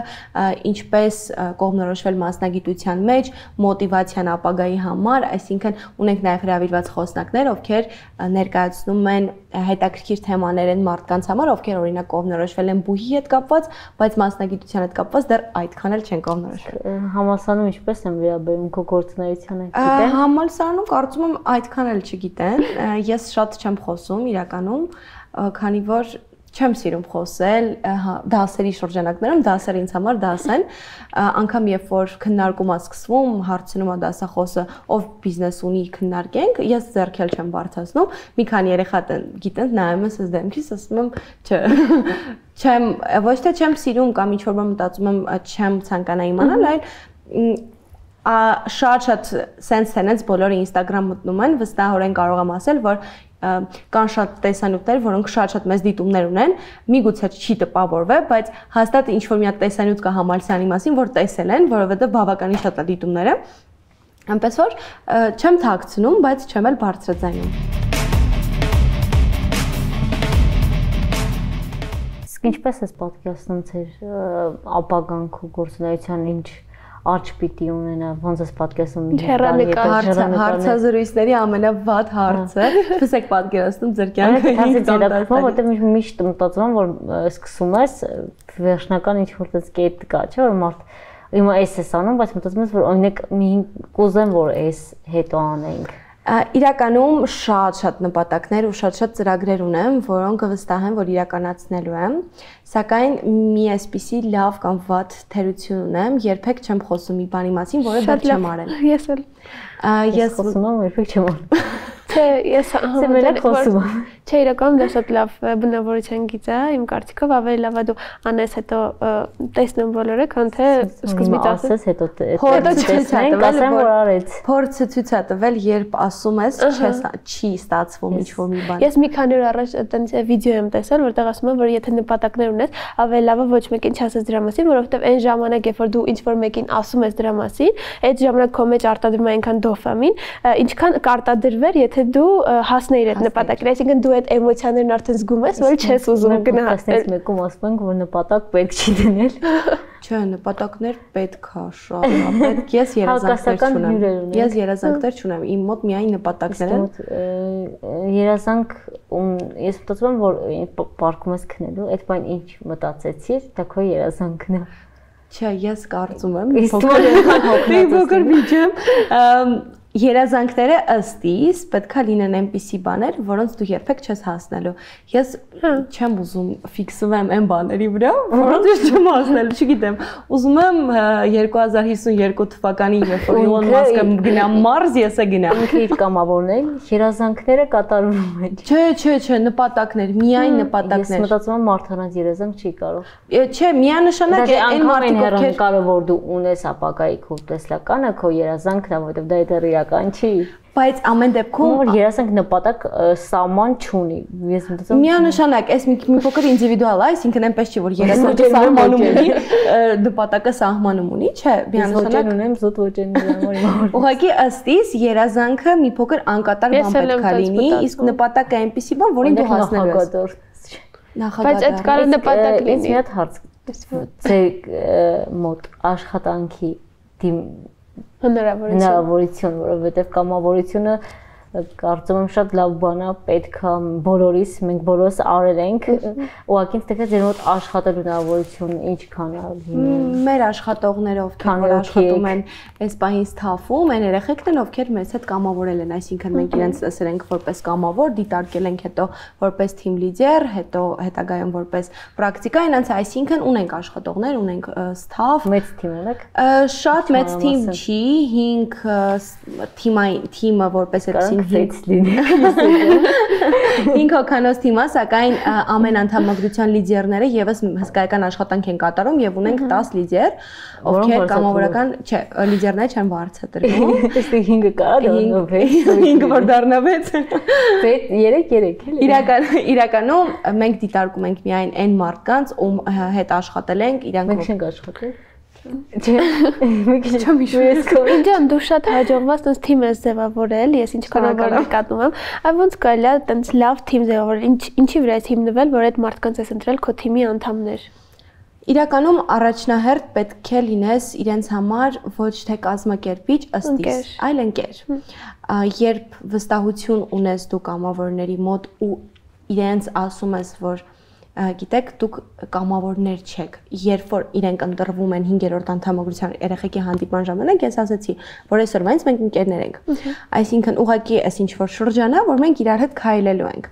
ինչպես կողմնորոշվել մասնագիտության մեջ, մոտիվացիան ապագայի համար, այսինքն ունենք նաև հրավիրված խոսնակներ, ովքեր ներկայացնում են հետաքրքիր թեմաներ են մարդկանց համար, ովքեր օրինակ կողմնորոշվել են բուհի հետ կապված, բայց մասնագիտության հետ կապված դեռ այդքան էլ չեն կողմնորոշվել։ Համալսարանում ինչպես են վերաբերում քո գործունեությանը, գիտեն։ Համալսարանում կարծում եմ այդքան էլ չգիտեն։ Ես շատ չեմ խոսում իրականում, քանի որ չեմ սիրում խոսել դասերի շրջանակներում, դասերը ինձ համար դաս են, անգամ երբ որ քննարկում է սկսվում, հարցնում է դասախոսը, ով բիզնես ունի, քննարկենք, ես ձեռքել չեմ բարձրացնում, մի քանի երեխա գիտեն, նայում ես ես դեմքիս, ասում եմ, չէ, չեմ, ոչ թե չեմ սիրում կամ ինչ-որ բան մտածում եմ, չեմ ցանկանա իմանալ, այլ շատ-շատ sense tenants բոլորը Instagram մտնում են, վստահորեն կարող եմ ասել, որ կան շատ տեսանյութեր, որոնք շատ-շատ մեծ դիտումներ ունեն, միգուցե չի տպավորվել, բայց հաստատ ինչ-որ մի հատ տեսանյութ կա համալսարանի մասին, որ տեսել են, որովհետև բավականին շատ է դիտումները։ Այնպես որ չեմ թաքցնում, բայց չեմ էլ բարձրաձայնում։ Իսկ ինչպես ես պատկերացնում ձեր ապագան քո գործունեության ինչ աճ պիտի ունենա, ոնց ես պատկերացնում հարցազրույցների ամենավատ հարցը, պես եք պատկերացնում ձեր կյանքը ինձ տանտակվում, որտեղ միշտ մտածում եմ, որ սկսում ես վերջնական ինչ-որ տես կետ կա, չէ՞ որ մարդ իմը էս էս անում, բայց մտածում ես, որ օրինակ մի կուզեմ, որ էս հետո անենք։ Իրականում շատ-շատ նպատակներ ու շատ-շատ ծրագրեր ունեմ, որոնք վստահ եմ, որ իրականացնելու եմ, սակայն մի այսպիսի լավ կամ վատ թերություն ունեմ, երբեք չեմ խոսում մի բանի մասին, որը դեռ չեմ արել։ Ես էլ ես խոսում եմ, երբեք չեմ արել։ Չէ, ես համոզել խոսում եմ։ Չէ, իրականում դա շատ լավ բնավորության գիծ է, իմ կարծիքով ավելի լավ է դու անես հետո տեսնում բոլորը, քան թե սկզբից ասես հետո տեսնենք, ասեմ որ արեց։ Փորձը ցույց է տվել, երբ ասում ես, չի ստացվում ինչ-որ մի բան։ Ես մի քանի օր առաջ այտենց վիդեո եմ տեսել, որտեղ ասում են, որ եթե նպատակներ ունես, ավելի լավ է ոչ մեկին չասես դրա մասին, որովհետև այն ժամանակ, երբ որ դու ինչ-որ մեկին ասում ես դրա մասին, այդ ժամանակ քո մեջ արտադրվում է այնքան դոֆամին, ինչքան կարտադրվեր, եթե դու հասնեիր այդ նպատակին, այսինքն դու այդ էմոցիաներն արդեն զգում ես, որ չես ուզում գնահատել։ Մեկում ասում ենք, որ նպատակ պետք չի դնել։ Չէ, նպատակներ պետք է շատ, պետք ես երազանքներ չունեմ։ Ես երազանքներ չունեմ, իմ մոտ միայն նպատակներ են։ Երազանք, ես մտածում եմ, որ պարկում ես քնելու, այդ բան ինչ մտածեցիր, դա քո երազանքն է։ Չէ, ես կարծում եմ, փոքր միջեմ Երազանքները ըստ իս պետքա լինեն այնպիսի բաներ, որոնց դու երբեք չես հասնելու։ Ես չեմ ուզում ֆիքսվեմ այն բաների վրա, որոնց ես չեմ հասնելու, չգիտեմ։ Ուզում եմ երկու հազար հիսունյոթ թվականին, երբ որ Իլոն Մասկը գնա Մարս, ես է գնամ։ Ինքը իր կամավորն է, երազանքները կատարվում են։ Չէ, չէ, չէ, նպատակներ, միայն նպատակներ։ Ես մտածում եմ մարդկանց երազանք չի կարող։ Չէ, միանշանակ այն մարդիկ, ովքեր կարող որ դու ունես ապագայի քո տեսլականը, քո երազանքն է, որովհետև դա դեռ իրական չի։ Բայց ամեն դեպքում որ երազանք նպատակ սահման չունի։ Ես մտածում եմ միանշանակ, այս մի փոքր ինդիվիդուալ է, այսինքն այնպես չի, որ երազանքը սահմանում ունի, նպատակը սահմանում ունի, չէ, միանշանակ ունեմ զուտ ոճեն համար։ Ուղղակի ըստ իս երազանքը մի փոքր անկատար բան պետք է լինի, իսկ նպատակը այնպեսի բան, որին դու հասնելու ես։ Բայց այդ կարող նպատակ լինի։ Մի հատ հարց։ Ձեր մոտ աշխատանքի հնարավորություն։ Հնարավորություն, որովհետև կամավորությունը կարծում եմ շատ լավ բան է, պետք է բոլորիս, մենք բոլորս արել ենք, ուղղակի ինձ թվում է ձեր մոտ աշխատելու հնարավորություն ինչքան է լինի։ Մեր աշխատողները, ովքեր որ աշխատում են այս պահին Սթաֆում, այն երեխեքն են, ովքեր մեզ հետ կամավորել են, այսինքն մենք իրենց տեսել ենք որպես կամավոր, դիտարկել ենք հետո որպես թիմ լիդեր, հետո հետագայում որպես պրակտիկա, այնց այսինքն ունենք աշխատողներ, ունենք Սթաֆ։ Մեծ թիմ ունեք։ Շատ մեծ թիմ չի, հինգ թիմային թիմը որպես այդպեսին Ինք հոգանոց թիմա, սակայն ամեն անդամագրության լիդերները եւս հսկայական աշխատանք են կատարում եւ ունենք տաս լիդեր, ովքեր կամավորական, չէ, լիդերները չեն բարձրացրել։ Այստեղ հինգը կա, դառնով է։ հինգը որ դառնա վեց։ երեք երեք էլի։ Իրական իրականում մենք դիտարկում ենք միայն այն մարդկանց, ում հետ աշխատել ենք, իրանք մենք չենք աշխատել։ Չէ, մի քիչ չմիշտ։ Ինձ դու շատ հաջողված տես թիմ ես ձևավորել, ես ինչքան որ նկատում եմ, այ ոնց կարելի է տենց լավ թիմ ձևավորել, ինչ ինչի վրա ես հիմնվել, որ այդ մարդկանց ես ընտրել քո թիմի անդամներ։ Իրականում առաջնահերթ պետք է լինես իրենց համար ոչ թե կազմակերպիչ ըստ իս, այլ ընկեր։ Երբ վստահություն ունես դու կամավորների մոտ ու իրենց ասում ես, որ գիտեք, դուք կամավորներ չեք, երբ որ իրենք ընտրվում են հինգերորդ անդամագրության երեխեքի հանդիպման ժամանակ, ես ասացի, որ այսօր մենք մենք ընկերներ ենք։ Այսինքն ուղղակի այս ինչ որ շրջան է, որ մենք իրար հետ քայլելու ենք։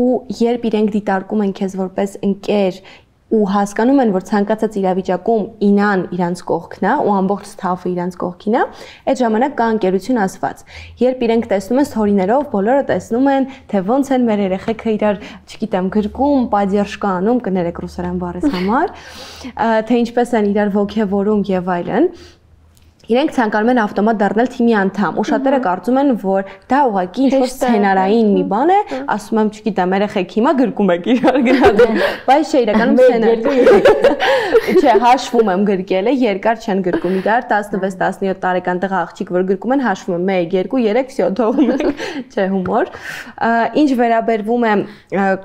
Ու երբ իրենք դիտարկում են քեզ որպես ընկեր ու հասկանում են, որ ցանկացած իրավիճակում ինան իրանց կողքն է ու ամբողջ Սթաֆը իրանց կողքին է, այդ ժամանակ կա ընկերություն ասված։ Երբ իրենք տեսնում են սթորիներով, բոլորը տեսնում են, թե ոնց են մեր երեխեքը իրար, չգիտեմ, գրկում, պատերժկա անում, կներեք ռուսերեն բառից համար, թե ինչպես են իրար ոգևորում եւ այլն։ Իրենք ցանկանում են ավտոմատ դառնալ թիմի անդամ, ու շատերը կարծում են, որ դա ուղղակի ինչ-որ սցենարային մի բան է, ասում եմ, չգիտեմ, երեխեք հիմա գրկում եք իրար գնալ, բայց չէ, իրականում սցենար։ Չէ, հաշվում եմ գրկելը, երկար չեն գրկում իրար, տասնվեց տասնյոթ տարեկան տղա աղջիկ որ գրկում են, հաշվում եմ մեկ, երկու, երեք, վсё, թողում ենք, չէ, հումոր։ Ինչ վերաբերվում է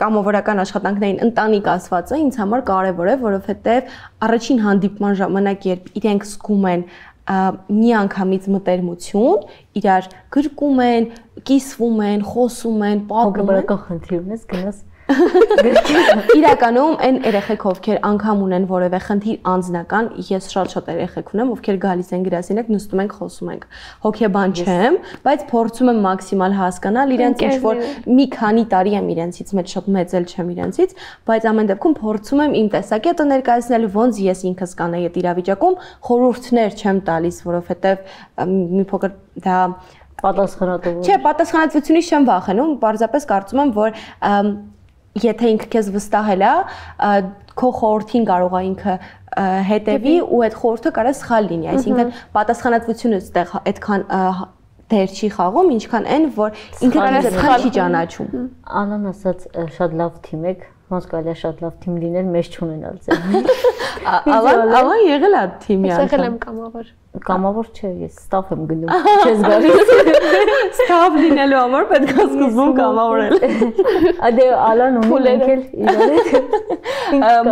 կամավորական աշխատանքներին, ընտանիք ասվածը ինձ համար կարևոր է, որովհետև առաջին հանդիպման ժամանակ, երբ իրենք զգում են մի անգամից մտերմություն, իրար գրկում են, կիսվում են, խոսում են, պատմում են։ Հոգեբանական խնդիր ունես, գնաս Իրականում այն երեխեք, ովքեր անգամ ունեն որևէ խնդիր անձնական, ես շատ-շատ երեխեք ունեմ, ովքեր գալիս են գրասենյակ, նստում ենք, խոսում ենք։ Հոգեբան չեմ, բայց փորձում եմ մաքսիմալ հասկանալ իրենց, ինչ որ մի քանի տարի եմ իրենցից, մեծ շատ մեծ էլ չեմ իրենցից, բայց ամեն դեպքում փորձում եմ իմ տեսակետը ներկայացնել, ոնց ես ինքս կանեի այդ իրավիճակում, խորհուրդներ չեմ տալիս, որովհետև մի փոքր դա պատասխանատվություն։ Չէ, պատասխանատվությունից չեմ վախենում, պարզապես կարծում եմ, որ եթե ինքը քեզ վստահել է, քո խորհրդին կարող է ինքը հետևի ու այդ խորհուրդը կարող է սխալ լինի, այսինքն պատասխանատվությունը այդտեղ այդքան դեր չի խաղում, ինչքան այն, որ ինքը քեզ այդքան չի ճանաչում։ Անան ասաց շատ լավ թիմ եք, ոնց կարելի է շատ լավ թիմ լինել, մեզ չունենալ ձեր։ Ալան, ալան եղել է թիմի անդամ։ Եղել եմ կամավոր։ Կամավոր չէ, ես ստաֆ եմ գնում, չես գալիս։ Ստաֆ լինելու համար պետք է սկզբում կամավորել։ Ադե Ալան ունի ընկել իրար։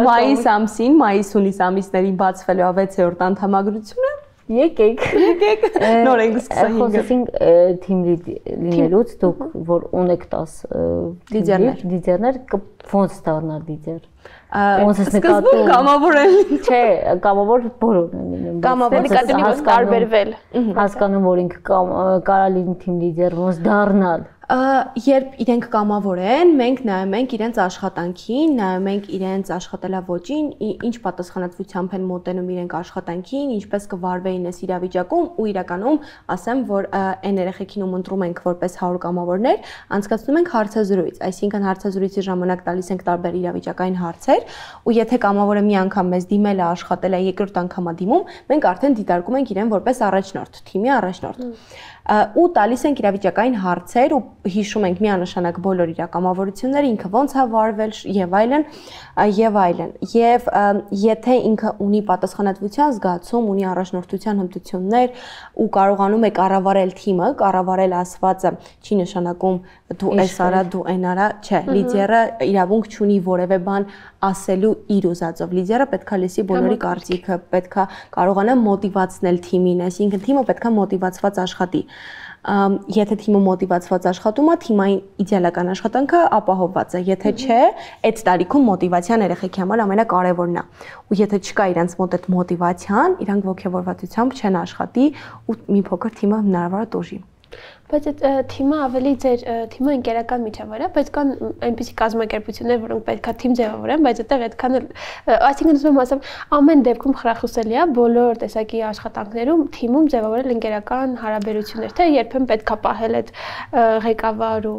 Մայիս ամսին, մայիս-հունիս ամիսներին բացվելու է վեցերորդ անդամագրությունը։ Եկեք, եկեք։ Նոր ենք սկսել։ Խոսեցինք թիմ լինելուց, դուք որ ունեք տաս լիդերներ, լիդերներ ոնց դառնալ լիդեր։ Ոնց ես նկատում։ Սկզբում կամավորել։ Չէ, կամավոր բոլորն են լինում։ Կամավոր նկատի ոնց տարբերվել։ Հասկանում որ ինքը կարա լինի թիմ լիդեր, ոնց դառնալ։ Երբ իրենք կամավոր են, մենք նայում ենք իրենց աշխատանքին, նայում ենք իրենց աշխատելավոճին, ինչ պատասխանատվությամբ են մոտենում իրենք աշխատանքին, ինչպես կվարվեին այս իրավիճակում ու իրականում ասեմ, որ այն երեխեքին ում ընտրում ենք որպես հարյուր կամավորներ, անցկացնում ենք հարցազրույց, այսինքն հարցազրույցի ժամանակ տալիս ենք տարբեր իրավիճակային հարցեր, ու եթե կամավորը մի անգամ մեզ դիմել է, աշխատել է, երկրորդ անգամ է դիմում, մենք արդեն դիտարկում ենք իրեն որպես առաջնորդ, թիմի առաջնորդ։ ու տալիս ենք իրավիճակային հարցեր ու հիշում ենք միանշանակ բոլոր իր կամավորությունները, ինքը ոնց է վարվել եւ այլն, եւ այլն։ Եվ եթե ինքը ունի պատասխանատվության զգացում, ունի առաջնորդության հմտություններ ու կարողանում է կառավարել թիմը, կառավարել ասվածը, չի նշանակում դու էս արա, դու այն արա, չէ, լիդերը իրավունք չունի որևէ բան ասելու իր ուզածով։ Լիդերը պետքա լսի բոլորի կարծիքը, պետքա կարողանա մոտիվացնել թիմին, այսինքն թիմը պետքա մոտիվացված աշխատի։ Եթե թիմը մոտիվացված աշխատում է, թիմային իդեալական աշխատանքը ապահովված է։ Եթե չէ, այդ տարիքում մոտիվացիան երեխեքի համար ամենակարևորն է։ Ու եթե չկա իրենց մոտ այդ մոտիվացիան, իրանք ողջավորվածությամբ չեն աշխատի ու մի փոքր թիմը հնարավոր է տոժի։ Բայց այդ թիմը ավելի ձեր թիմը ընկերական միջավայր է, բայց կան այնպիսի կազմակերպություններ, որոնք պետքա թիմ ձևավորեն, բայց այդտեղ այդքան այսինքն ուզում եմ ասեմ, ամեն դեպքում խրախուսելի է բոլոր տեսակի աշխատանքներում թիմում ձևավորել ընկերական հարաբերություններ, թե երբեմն պետքա պահել այդ ղեկավար ու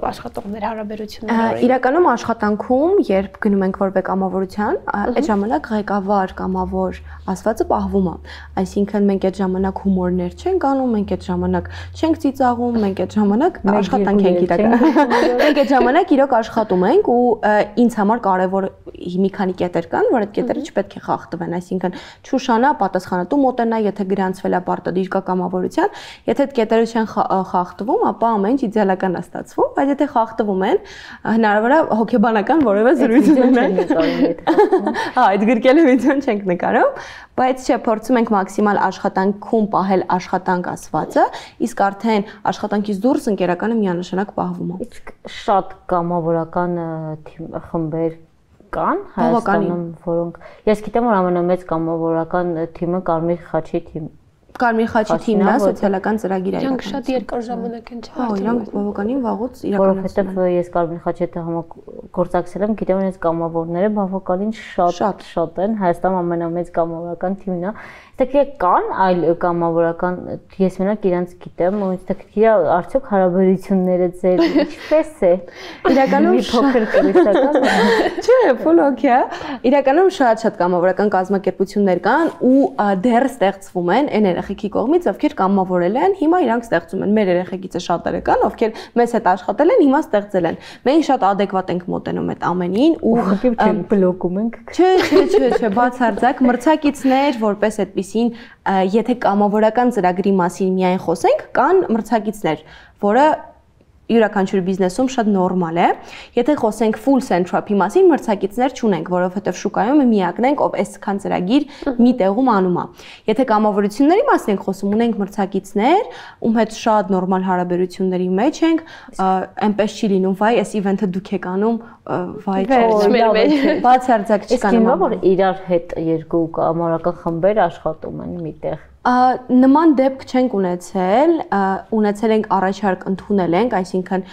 աշխատողներ հարաբերությունները։ Իրականում աշխատանքում, երբ գնում ենք որևէ կամավորության, այդ ժամանակ ղեկավար, կամավոր ասվածը պահվում է։ Այսինքն մենք այդ ժամանակ հումորներ չենք անում, մենք այդ ժամանակ չենք ծիծաղում, մենք այդ ժամանակ աշխատանք ենք իրական։ Մենք այդ ժամանակ իրոք աշխատում ենք ու ինձ համար կարևոր մի քանի կետեր կան, որ այդ կետերը չպետք է խախտվեն, այսինքն Շուշանա պատասխանատու մոտենա, եթե գրանցվել է պարտադիր կամավորության, եթե այդ կետերը չեն խախտվում, ապա ամեն ինչ իդեալական է ստացվում, բայց եթե խախտվում են, հնարավոր է հոգեբանական որևէ զրույց ունենալ։ Հա, այդ գրկելու վիդեոն չենք նկարում, բայց չէ, փորձում ենք մաքսիմալ աշխատանքում պահել աշխատանք ասվածը, իսկ արդեն աշխատանքից դուրս ընկերականը միանշանակ պահվում է։ Իսկ շատ կամավորական խմբեր կան Հայաստանում, որոնք ես գիտեմ, որ ամենամեծ կամավորական թիմը Կարմիր խաչի թիմն է։ Կարմիր խաչի թիմն է, սոցիալական ծրագիր է։ Իրանք շատ երկար ժամանակ են չարթում։ Հա, իրանք բավականին վաղուց իրականացնում են։ Որովհետև ես Կարմիր խաչի հետ համագործակցել եմ, գիտեմ, որ այս կամավորները բավականին շատ շատ են, Հայաստանում ամենամեծ կամավորական թիմն է։ Այստեղ կան այլ կամավորական, ես մենակ իրանց գիտեմ, ու այստեղ արդյոք հարաբերությունները ձեր ինչպես է։ Իրականում մի փոքր կրիսական։ Չէ, full okay։ Իրականում շատ-շատ կամավորական կազմակերպություններ կան ու դեռ ստեղծվում են այն երեխեքի կողմից, ովքեր կամավորել են, հիմա իրանք ստեղծում են։ Մեր երեխեքից շատերը կան, ովքեր մեզ հետ աշխատել են, հիմա ստեղծել են։ Մենք շատ ադեկվատ ենք մոտենում այդ ամենին ու բլոկում ենք։ Չէ, չէ, չէ, չէ, բացարձակ մրցակիցներ, որպես այդպեսին, եթե կամավորական ծրագրի մասին միայն խոսենք, կան մրցակիցներ, որը յուրաքանչյուր բիզնեսում շատ նորմալ է։ Եթե խոսենք full central-ի մասին, մրցակիցներ չունենք, որովհետև շուկայում միակն ենք, ով այսքան ծրագիր մի տեղում անում է։ Եթե կամավորությունների մասին ենք խոսում, ունենք մրցակիցներ, ում հետ շատ նորմալ հարաբերությունների մեջ ենք, այնպես չի լինում, վայ, այս իվենթը դուք եք անում, վայ, բացարձակ չկան։ Իսկ որ իրար հետ երկու կամավորական խմբեր աշխատում են միտեղ։ Նման դեպք չենք ունեցել, ունեցել ենք առաջարկ ընդունել ենք, այսինքն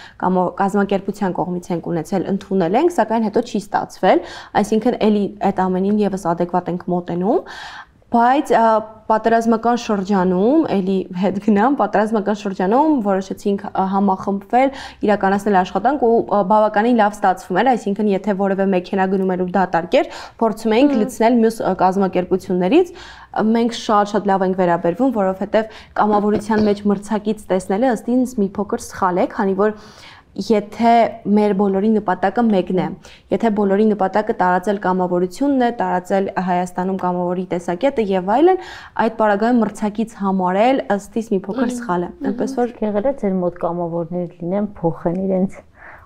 կազմակերպության կողմից ենք ունեցել, ընդունել ենք, սակայն հետո չի ստացվել, այսինքն էլի այդ ամենին եւս ադեկվատ ենք մոտենում, բայց պատերազմական շրջանում, էլի հետ գնամ, պատերազմական շրջանում որոշեցինք համախմբվել, իրականացնել աշխատանք ու բավականին լավ ստացվում էր, այսինքն եթե որևէ մեքենա գնում էր ու դատարկ էր, փորձում էինք լցնել մյուս կազմակերպություններից, մենք շատ-շատ լավ ենք վերաբերվում, որովհետև կամավորության մեջ մրցակից տեսնելը ըստ ինձ մի փոքր սխալ է, քանի որ եթե մեր բոլորի նպատակը մեկն է, եթե բոլորի նպատակը տարածել կամավորությունն է, տարածել Հայաստանում կամավորի տեսակետը եւ այլն, այդ պարագայում մրցակից համարել ըստ իս մի փոքր սխալ է։ Այնպես որ եղել է ձեր մոտ կամավորներ լինեն, փոխեն իրենց։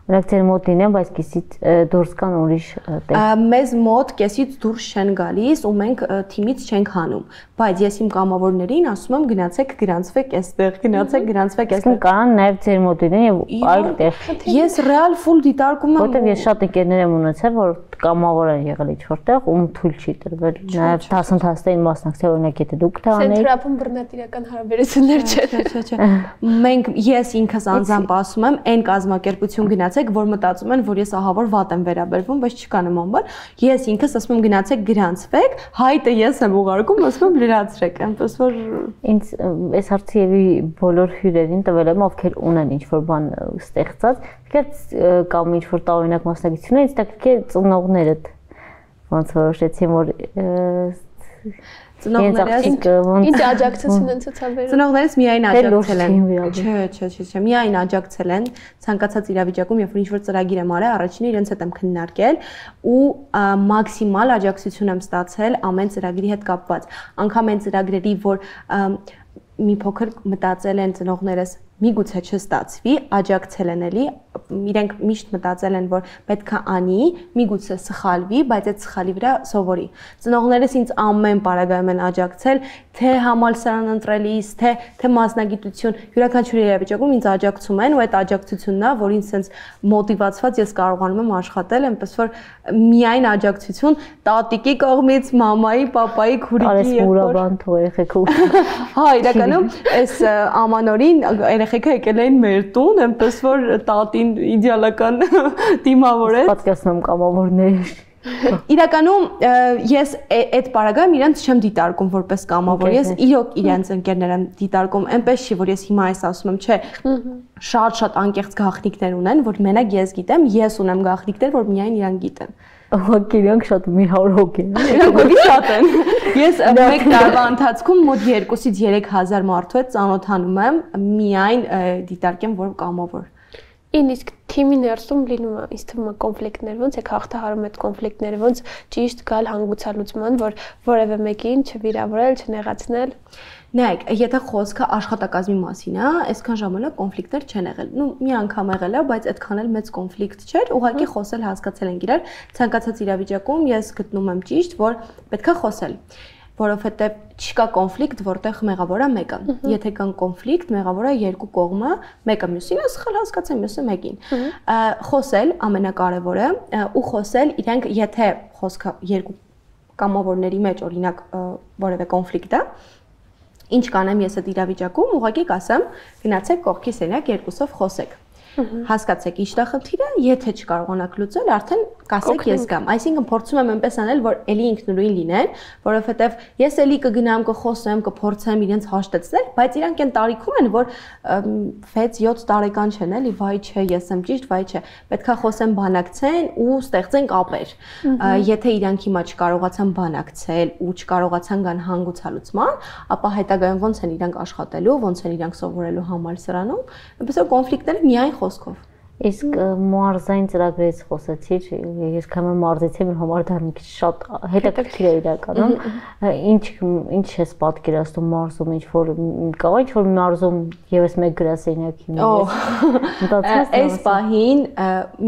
Օրինակ ձեր մոտ լինեն, բայց կեսից դուրս կան ուրիշ տեղ։ Մեզ մոտ կեսից դուրս չեն գալիս ու մենք թիմից չենք հանում, բայց ես իմ կամավորներին ասում եմ գնացեք գրանցվեք այստեղ, գնացեք գրանցվեք այստեղ։ Կան նաև ձեր մոտ լինեն եւ այլ տեղ։ Ես ռեալ full դիտարկում եմ։ Որտեւ ես շատ ընկերներ եմ ունեցել, որ կամավոր են եղել ինչ-որտեղ, ում թույլ չի տրվել նաև դասընթացներին մասնակցել, օրինակ եթե դուք դա անեիք։ Սենտրապում բռնատիրական հարաբերություններ չէ, չէ, չէ։ Մենք ես ինքս անձամբ ասում եմ, այն կազմակերպություն գնացեք, որ մտածում են, որ ես ահավոր վատ եմ վերաբերվում, բայց չկա նման բան։ Ես ինքս ասում եմ գնացեք գրանցվեք, հայտը ես եմ ուղարկում, ասում եմ լրացրեք, այնպես որ ինձ այս հարցի եւի բոլոր հյուրերին տվել եմ, ովքեր ունեն ինչ-որ բան ստեղծած, կամ ինչ-որ տարօրինակ մասնակցություն, ինձ տակ է ծնողներդ ոնց որոշեցին, որ Ծնողներս ինչ աջակցություն են ցուցաբերում։ Ծնողներս միայն աջակցել են։ Չէ, չէ, չէ, չէ, միայն աջակցել են ցանկացած իրավիճակում, երբ որ ինչ-որ ծրագիր եմ արել, առաջինը իրենց հետ եմ քննարկել ու մաքսիմալ աջակցություն եմ ստացել ամեն ծրագրի հետ կապված։ Անկամ այն ծրագրերի, որ մի փոքր մտածել են ծնողներս միգուցե չստացվի, աջակցել են էլի, իրենք միշտ մտածել են, որ պետք է անի, միգուցե սխալվի, բայց այդ սխալի վրա սովորի։ Ծնողներս ինձ ամեն պարագայում են աջակցել, թե համալսարան ընտրելիս, թե թե մասնագիտություն, յուրաքանչյուր իրավիճակում ինձ աջակցում են ու այդ աջակցությունն է, որ ինձ sense մոտիվացված ես կարողանում եմ աշխատել, այնպես որ միայն աջակցություն տատիկի կողմից, մամայի, պապայի, քուրիկի եղբոր թող երեխեքը։ Հա, իրականում այս ամանորին երեխեքը եկել էին մեր տուն, այնպես որ տատին իդեալական դիմավոր է։ Պատկասնում կամավորներ։ Իրականում ես այդ պարագայում իրենց չեմ դիտարկում որպես կամավոր, ես իրոք իրենց ընկերներ եմ դիտարկում, այնպես չի, որ ես հիմա այս ասում եմ, չէ, շատ-շատ անկեղծ գաղտնիքներ ունեն, որ մենակ ես գիտեմ, ես ունեմ գաղտնիքներ, որ միայն իրանք գիտեն։ Ուղղակի իրանք շատ մի հարյուր հոգի են։ Իրանք հոգի շատ են։ Ես մեկ տարվա ընթացքում մոտ երկուսից երեք հազար մարդու հետ ծանոթանում եմ, միայն դիտարկեմ, որ կամավոր։ Իսկ թիմի ներսում լինում է, ինձ թվում է կոնֆլիկտներ, ոնց է հաղթահարում այդ կոնֆլիկտները, ոնց ճիշտ գալ հանգուցալուծման, որ որևէ մեկին չվիրավորել, չնեղացնել։ Նայեք, եթե խոսքը աշխատակազմի մասին է, այսքան ժամանակ կոնֆլիկտներ չեն եղել։ Ну, մի անգամ եղել է, բայց այդքան էլ մեծ կոնֆլիկտ չէր, ուղղակի խոսել հասկացել ենք իրար, ցանկացած իրավիճակում ես գտնում եմ ճիշտ, որ պետքա խոսել, որովհետև չկա կոնֆլիկտ, որտեղ մեղավորը մեկը։ Եթե կան կոնֆլիկտ, մեղավորը երկու կողմը, մեկը մյուսին է սխալ հասկացել, մյուսը մեկին։ Խոսել ամենակարևորը ու խոսել իրենք, եթե խոսքը երկու կամավորների մեջ օրինակ որևէ կոնֆլիկտ է, ինչ կանեմ ես այդ իրավիճակում, ուղղակի կասեմ, գնացեք կողքի սենյակ երկուսով խոսեք։ Հասկացեք ինչ է խնդիրը, եթե չկարողանաք լուծել, արդեն կասեք ես գամ։ Այսինքն փորձում եմ այնպես անել, որ էլի ինքնուրույն լինեն, որովհետև ես էլի կգնամ, կխոսեմ, կփորձեմ իրենց հաշտեցնել, բայց իրանք այն տարիքում են, որ վեց յոթ տարեկան չեն, էլի, վայ չէ, ես եմ ճիշտ, վայ չէ։ Պետքա խոսեն, բանակցեն ու ստեղծեն կապեր։ Եթե իրանք հիմա չկարողացան բանակցել ու չկարողացան գան հանգուցալուծման, ապա հետագայում ոնց են իրանք աշխատելու, ոնց են իրանք սովորելու համալսարանում, այնպես որ կոնֆլիկտները միայն խոսքով։ Իսկ մարզային ծրագրից խոսեցիր, ես քամը մարզեցի, մեր համար դա մի քիչ շատ հետաքրքիր է իրականում։ Ինչ ինչ ես պատկերացնում մարզում, ինչ որ կա, ինչ որ մարզում եւս մեկ գրասենյակի մեջ։ Այս պահին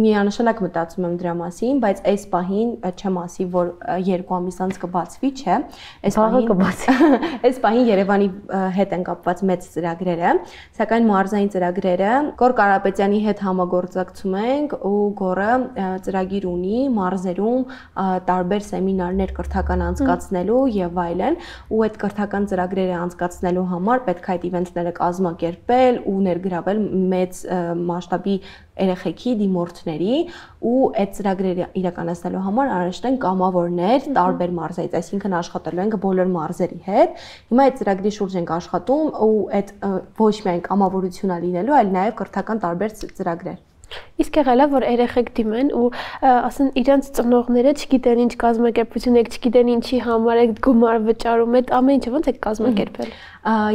միանշանակ մտածում եմ դրա մասին, բայց այս պահին չեմ ասի, որ երկու ամիս անց կբացվի, չէ։ Այս պահին կբացվի։ Այս պահին Երևանի հետ են կապված մեծ ծրագրերը, սակայն մարզային ծրագրերը Գոր Կարապետյանի հետ համագ գործակցում ենք ու Գորը ծրագիր ունի մարզերում տարբեր սեմինարներ կրթական անցկացնելու եւ այլն ու այդ կրթական ծրագրերը անցկացնելու համար պետք է այդ իվենտները կազմակերպել ու ներգրավել մեծ մասշտաբի երեխեքի դիմորդների ու այդ ծրագրերը իրականացնելու համար անհրաժեշտ են կամավորներ տարբեր մարզերից, այսինքն աշխատելու ենք բոլոր մարզերի հետ։ Հիմա այդ ծրագրի շուրջ ենք աշխատում ու այդ ոչ միայն կամավորություն է լինելու, այլ նաև կրթական տարբեր ծրագրեր։ Իսկ եղել է, որ երեխեք դիմեն ու ասեն իրենց ծնողները չգիտեն ինչ կազմակերպություն եք, չգիտեն ինչի համար եք գումար վճարում, այդ ամեն ինչը ոնց եք կազմակերպել։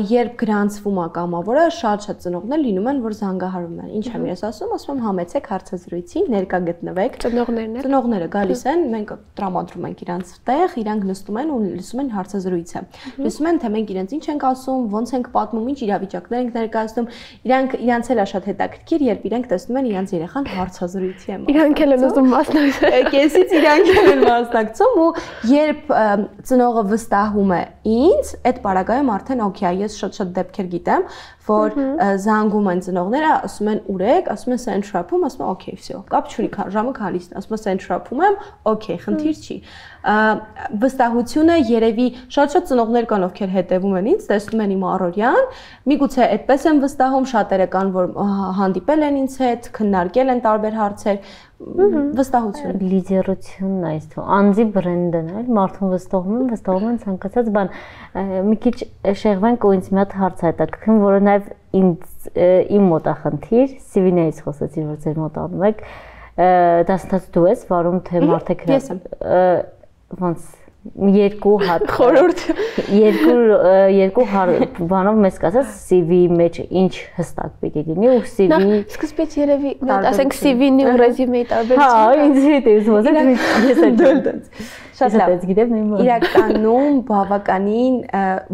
Երբ գրանցվում է կամավորը, շատ-շատ ծնողներ լինում են, որ զանգահարում են։ Ինչ եմ ես ասում, ասում եմ համեցեք հարցազրույցի, ներկա գտնվեք։ Ծնողներն են։ Ծնողները գալիս են, մենք տրամադրում ենք իրանց տեղ, իրանք նստում են ու լսում են հարցազրույցը։ Լսում են, թե մենք իրենց ինչ ենք ասում, ոնց ենք պատմում, ինչ իրավիճակներ ենք ներկայացնում։ Իրանք իրանց էլ է շատ հետաքրքիր, երբ իրենք տեսնում են իրանց երեխան հարցազրույցի է։ Իրանք էլ են ուզում մասնակցել։ Կեսից իրանք են մասնակցում ու երբ ծնողը վստահում է ինձ, այդ պարագայում արդեն օքեյ, ես շատ-շատ դեպքեր գիտեմ, որ զանգում են ծնողները, ասում են ուր եք, ասում են Central-ում, ասում են օքեյ, վсё, կապ չունի, ժամը քալիս է, ասում են Central-ում եմ, օքեյ, խնդիր չի։ Վստահությունը երևի շատ-շատ ծնողներ կան, ովքեր հետևում են ինձ, տեսնում են իմ առօրյան, միգուցե այդպես են վստահում, շատերը կան, որ հանդիպել են ինձ հետ, քննարկել են տարբեր հարցեր, վստահություն, լիդերությունն է այս թվում, անձի բրենդն է, մարդուն վստահում են, վստահում են ցանկացած բան։ Մի քիչ շեղվենք ու ինձ մի հատ հարց հետաքրքրում, որը նաև ինձ իմ մոտ է խնդիր, սի վի-ներից խոսեցին, որ ձեր մոտ անում եք, դասընթաց դու ես վարում, թե մարդիկ ես եմ։ Ոնց երկու հատ խորհուրդ երկու երկու բանով մեզ կասած C V-ի մեջ ինչ հստակ պիտի լինի ու C V-ի սկզբից երևի ասենք C V-ի ու ռեզյումեի տարբերությունը։ Հա, ինձ հետ է ուզում ասել, ես էլ դոլտած։ Շատ լավ։ Գիտեմ նույնը։ Իրականում բավականին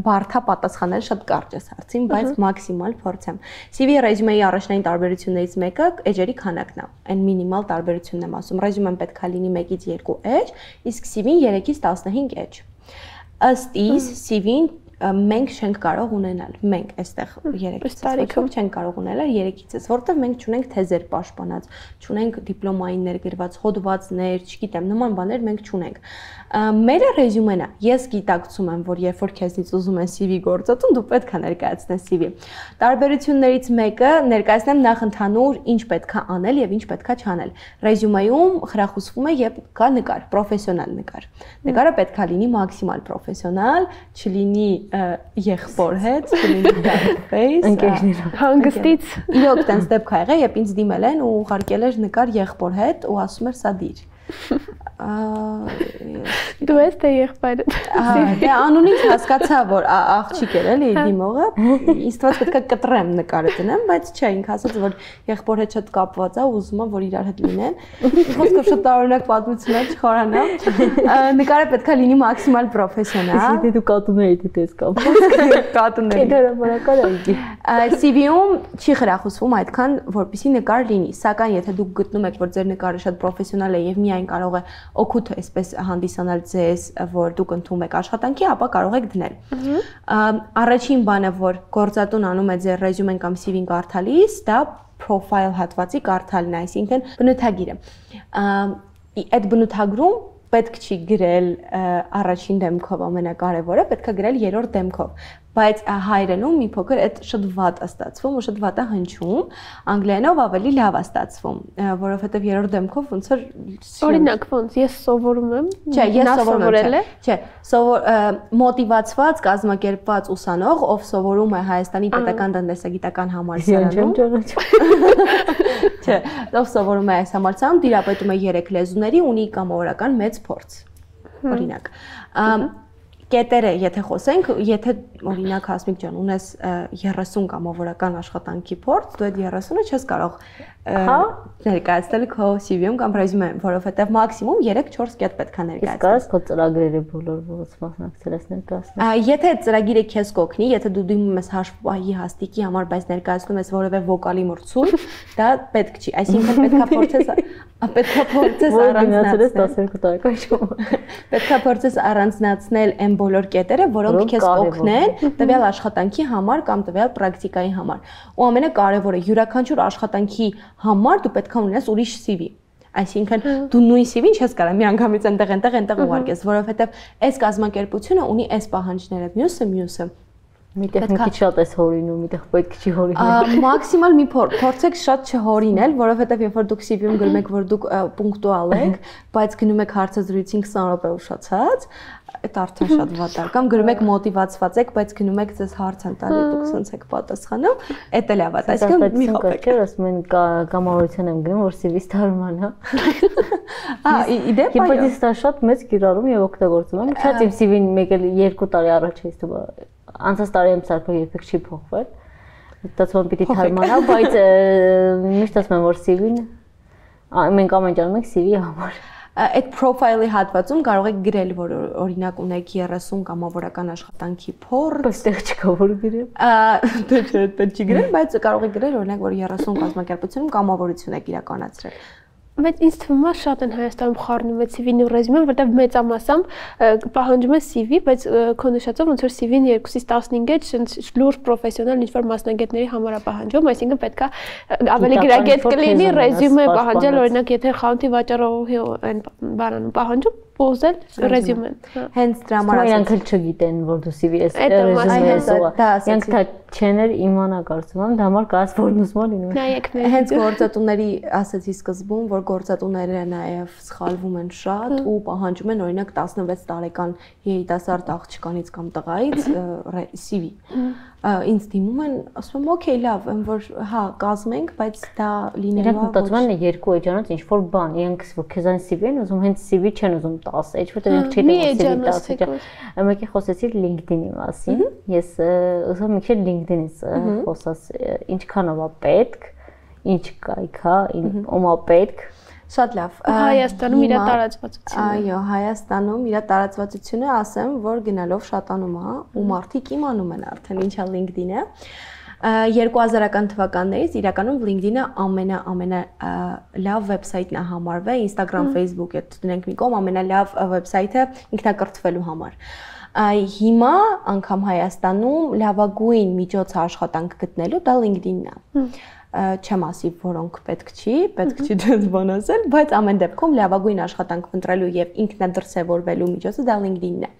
բարդ է պատասխանել շատ կարճ է հարցին, բայց մաքսիմալ փորձեմ։ C V-ի ռեզյումեի առաջնային տարբերություններից մեկը էջերի քանակն է։ Այն մինիմալ տարբերությունն եմ ասում։ Ռեզյումեն պետք է լինի մեկից երկու էջ, իսկ C V-ին երեքից տասնհինգ էջ։ Ըստ իս C V-ին մենք չենք կարող ունենալ։ Մենք այստեղ երեքից տարիքում չենք կարող ունենալ երեքից, որովհետև մենք չունենք թեզեր պաշտպանած, չունենք դիպլոմային ներգրված հոդվածներ, չգիտեմ, նման բաներ մենք չունենք։ Մերը ռեզյումեն է։ Ես գիտակցում եմ, որ երբ որ քեզնից ուզում են C V գործածում, դու պետք է ներկայացնես C V։ Տարբերություններից մեկը ներկայացնեմ նախ ընդհանուր ինչ պետք է անել եւ ինչ պետք է չանել։ Ռեզյումեում խրախուսվում է, երբ կա նկար, պրոֆեսիոնալ նկար։ Նկարը պետք է լինի մաքսիմալ պրոֆեսիոնալ, չլինի եղբոր հետ, չլինի dark face, ընկերներով հանգստից։ Իրոք տենց դեպք ա եղել, երբ ինձ դիմել են ու ուղարկել էր նկար եղբոր հետ ու ասում էր սա դիր։ Դու ես թե եղբայրդ։ Դե անունից հասկացա, որ աղջիկ էր էլի դիմողը, ինձ թվաց պետք է կտրեմ նկարը դնեմ, բայց չէ, ինքը ասաց, որ եղբոր հետ շատ կապված է, ուզում եմ, որ իրար հետ լինեն։ Խոսքով շատ տարօրինակ պատմություն է, չխորանամ։ Նկարը պետք է լինի մաքսիմալ պրոֆեսիոնալ։ Դե դու կատուների հետ ես կապված։ Կատուների։ Դերաբանական է։ C V-ում չի խրախուսվում այդքան, որպեսզի նկար լինի, սակայն եթե դուք գտնում եք, որ ձեր նկարը շատ պրոֆեսիոնալ է եւ միայն կարող է օգուտ այսպես հանդիսանալ ձեզ, որ դուք ընդունում եք աշխատանքի, ապա կարող եք դնել։ Առաջին բանը, որ գործատուն անում է ձեր ռեզյումեն կամ C V-ին կարդալիս, դա profile հատվածի կարդալն է, այսինքն բնութագիրը։ Այդ բնութագրում պետք չի գրել առաջին դեմքով ամենակարևորը, պետք է գրել երրորդ դեմքով, բայց հայերենում մի փոքր այդ շատ վատ է ստացվում ու շատ վատ է հնչում, անգլերենով ավելի լավ է ստացվում, որովհետև երրորդ դեմքով ոնց որ օրինակ ոնց ես սովորում եմ, չէ, ես սովորել եմ, չէ, սովոր մոտիվացված, կազմակերպված ուսանող, ով սովորում է Հայաստանի պետական տնտեսագիտական համալսարանում, չէ, ով սովորում է այս համալսարանում, տիրապետում է երեք լեզուների, ունի կամավորական մեծ փորձ, օրինակ։ Կետերը, եթե խոսենք, եթե օրինակ Հասմիկ ջան, ունես երեսուն կամավորական աշխատանքի փորձ, դու այդ երեսունը չես կարող ներկայացնել քո C V-ում կամ ռեզյումեում, որովհետև մաքսիմում երեք-չորս կետ պետք է ներկայացնել։ Իսկ կարես քո ծրագրերը բոլոր ոնց մասնակցել ես ներկայացնել։ Եթե ծրագիրը քեզ կօգնի, եթե դու դիմում ես հաշվի հաստիկի համար, բայց ներկայացնում ես որևէ վոկալի մրցույթ, դա պետք չի, այսինքն պետք է փորձես պետք է փորձես առանձնացնել տասներկու տարեկան շոու։ Պետք է փորձես առանձնացնել այն բոլոր կետերը, որոնք քեզ կօգնեն տվյալ աշխատանքի համար կամ տվյալ պրակտիկայի համար։ Ու ամենակարևորը, յուրաքանչյուր աշխատանքի համար դու պետք է ունենաս ուրիշ C V։ Այսինքն դու նույն C V-ին չես կարող միանգամից այնտեղ այնտեղ այնտեղ ուղարկես, որովհետև այս կազմակերպությունը ունի այս պահանջները, մյուսը մյուսը։ Միտեղ մի քիչ շատ էս հորինում, միտեղ պետք չի հորինել։ Մաքսիմալ մի փորձեք շատ չհորինել, որովհետև երբ որ դուք C V-ում գրում եք, որ դուք պունկտուալ եք, բայց գնում եք հարցազրույցին քսան րոպե ուշացած, այդ արդեն շատ վատ է։ Կամ գրում եք մոտիվացված եք, բայց գնում եք ձեզ հարց են տալի, դուք ցած եք պատասխանում, այդ էլ է վատ։ Այսինքն մի խփեք։ Ասում են կամավորություն եմ գնում, որ C V-ս դարմանա։ Ահա, իդեպ այո։ Բայց դա շատ մեծ կիրառում եւ օգտագործում եմ։ Շատ իմ C V-ին մեկ էլ երկու տարի առաջ էս դու անցած տարի եմ սարքել, երբեք չի փոխվել։ Դասում պիտի թարմանա, բայց միշտ ասում եմ, որ C V-ն մենք ամեն ջանում ենք C V-ի համար։ Այդ profile-ի հատվածում կարող եք գրել, որ օրինակ ունեք երեսուն կամավորական աշխատանքի փորձ, այստեղ չկա որ գրեմ։ Դե չէ, դա չի գրել, բայց կարող եք գրել օրինակ, որ երեսուն կազմակերպությունում կամավորություն եք իրականացրել։ Բայց ինձ թվում է շատ են Հայաստանում խառնում այդ C V-ն ու ռեզյումեն, որտեղ մեծամասամբ պահանջում է C V, բայց քո նշածով ոնց որ C V-ն երկուսից տասնհինգ է, լուրջ պրոֆեսիոնալ ինչ-որ մասնագետների համար է պահանջում, այսինքն պետք է ավելի գրագետ կլինի ռեզյումե պահանջել, օրինակ եթե խանութի վաճառողի այն բանանում պահանջում, ուզել ռեզյումեն։ Հենց դրա համար ասենք իրանք չգիտեն, որ դու C V ես ռեզյումե ես։ Իրանք դա չեներ իմանա կարծում եմ, դա համար կաս որ ուզում են լինում։ Նայեք մեր։ Հենց գործատուների ասացի սկզբում, որ գործատուները նաև սխալվում են շատ ու պահանջում են օրինակ տասնվեց տարեկան երիտասարդ աղջկանից կամ տղայից C V։ ինձ դիմում են, ասում եմ, օքեյ, լավ, եմ որ հա, կազմենք, բայց դա լինելու է։ Իրենք մտածում են երկու էջանոց ինչ որ բան, իրենք որ քեզան սի վի են ուզում, հենց սի վի չեն ուզում տասը էջ, որտեղ իրենք չգիտեն որ սի վի տասը։ Մեկի խոսեցի LinkedIn-ի մասին։ Ես ուզում եմ մի քիչ LinkedIn-ից խոսած, ինչքանով է պետք, ինչ կայք է, ում է պետք։ Շատ լավ։ Հայաստանում իր տարածվածությունը։ Այո, Հայաստանում իր տարածվածությունը ասեմ, որ գնալով շատանում է, ու մարդիկ իմանում են արդեն ինչա LinkedIn-ը։ երկու հազարական թվականներից իրականում LinkedIn-ը ամենա ամենա լավ վեբսայթն է համարվել, Instagram, Facebook, այդ դնենք մի կողմ ամենալավ վեբսայթը ինքնակրթվելու համար։ Հիմա անգամ Հայաստանում լավագույն միջոցը աշխատանք գտնելու դա LinkedIn-ն է։ Չեմ ասի, որոնք պետք չի, պետք չի դες բան ասել, բայց ամեն դեպքում լավագույն աշխատանք ընտրելու եւ ինքնադրսևորվելու միջոցը դա LinkedIn-ն է։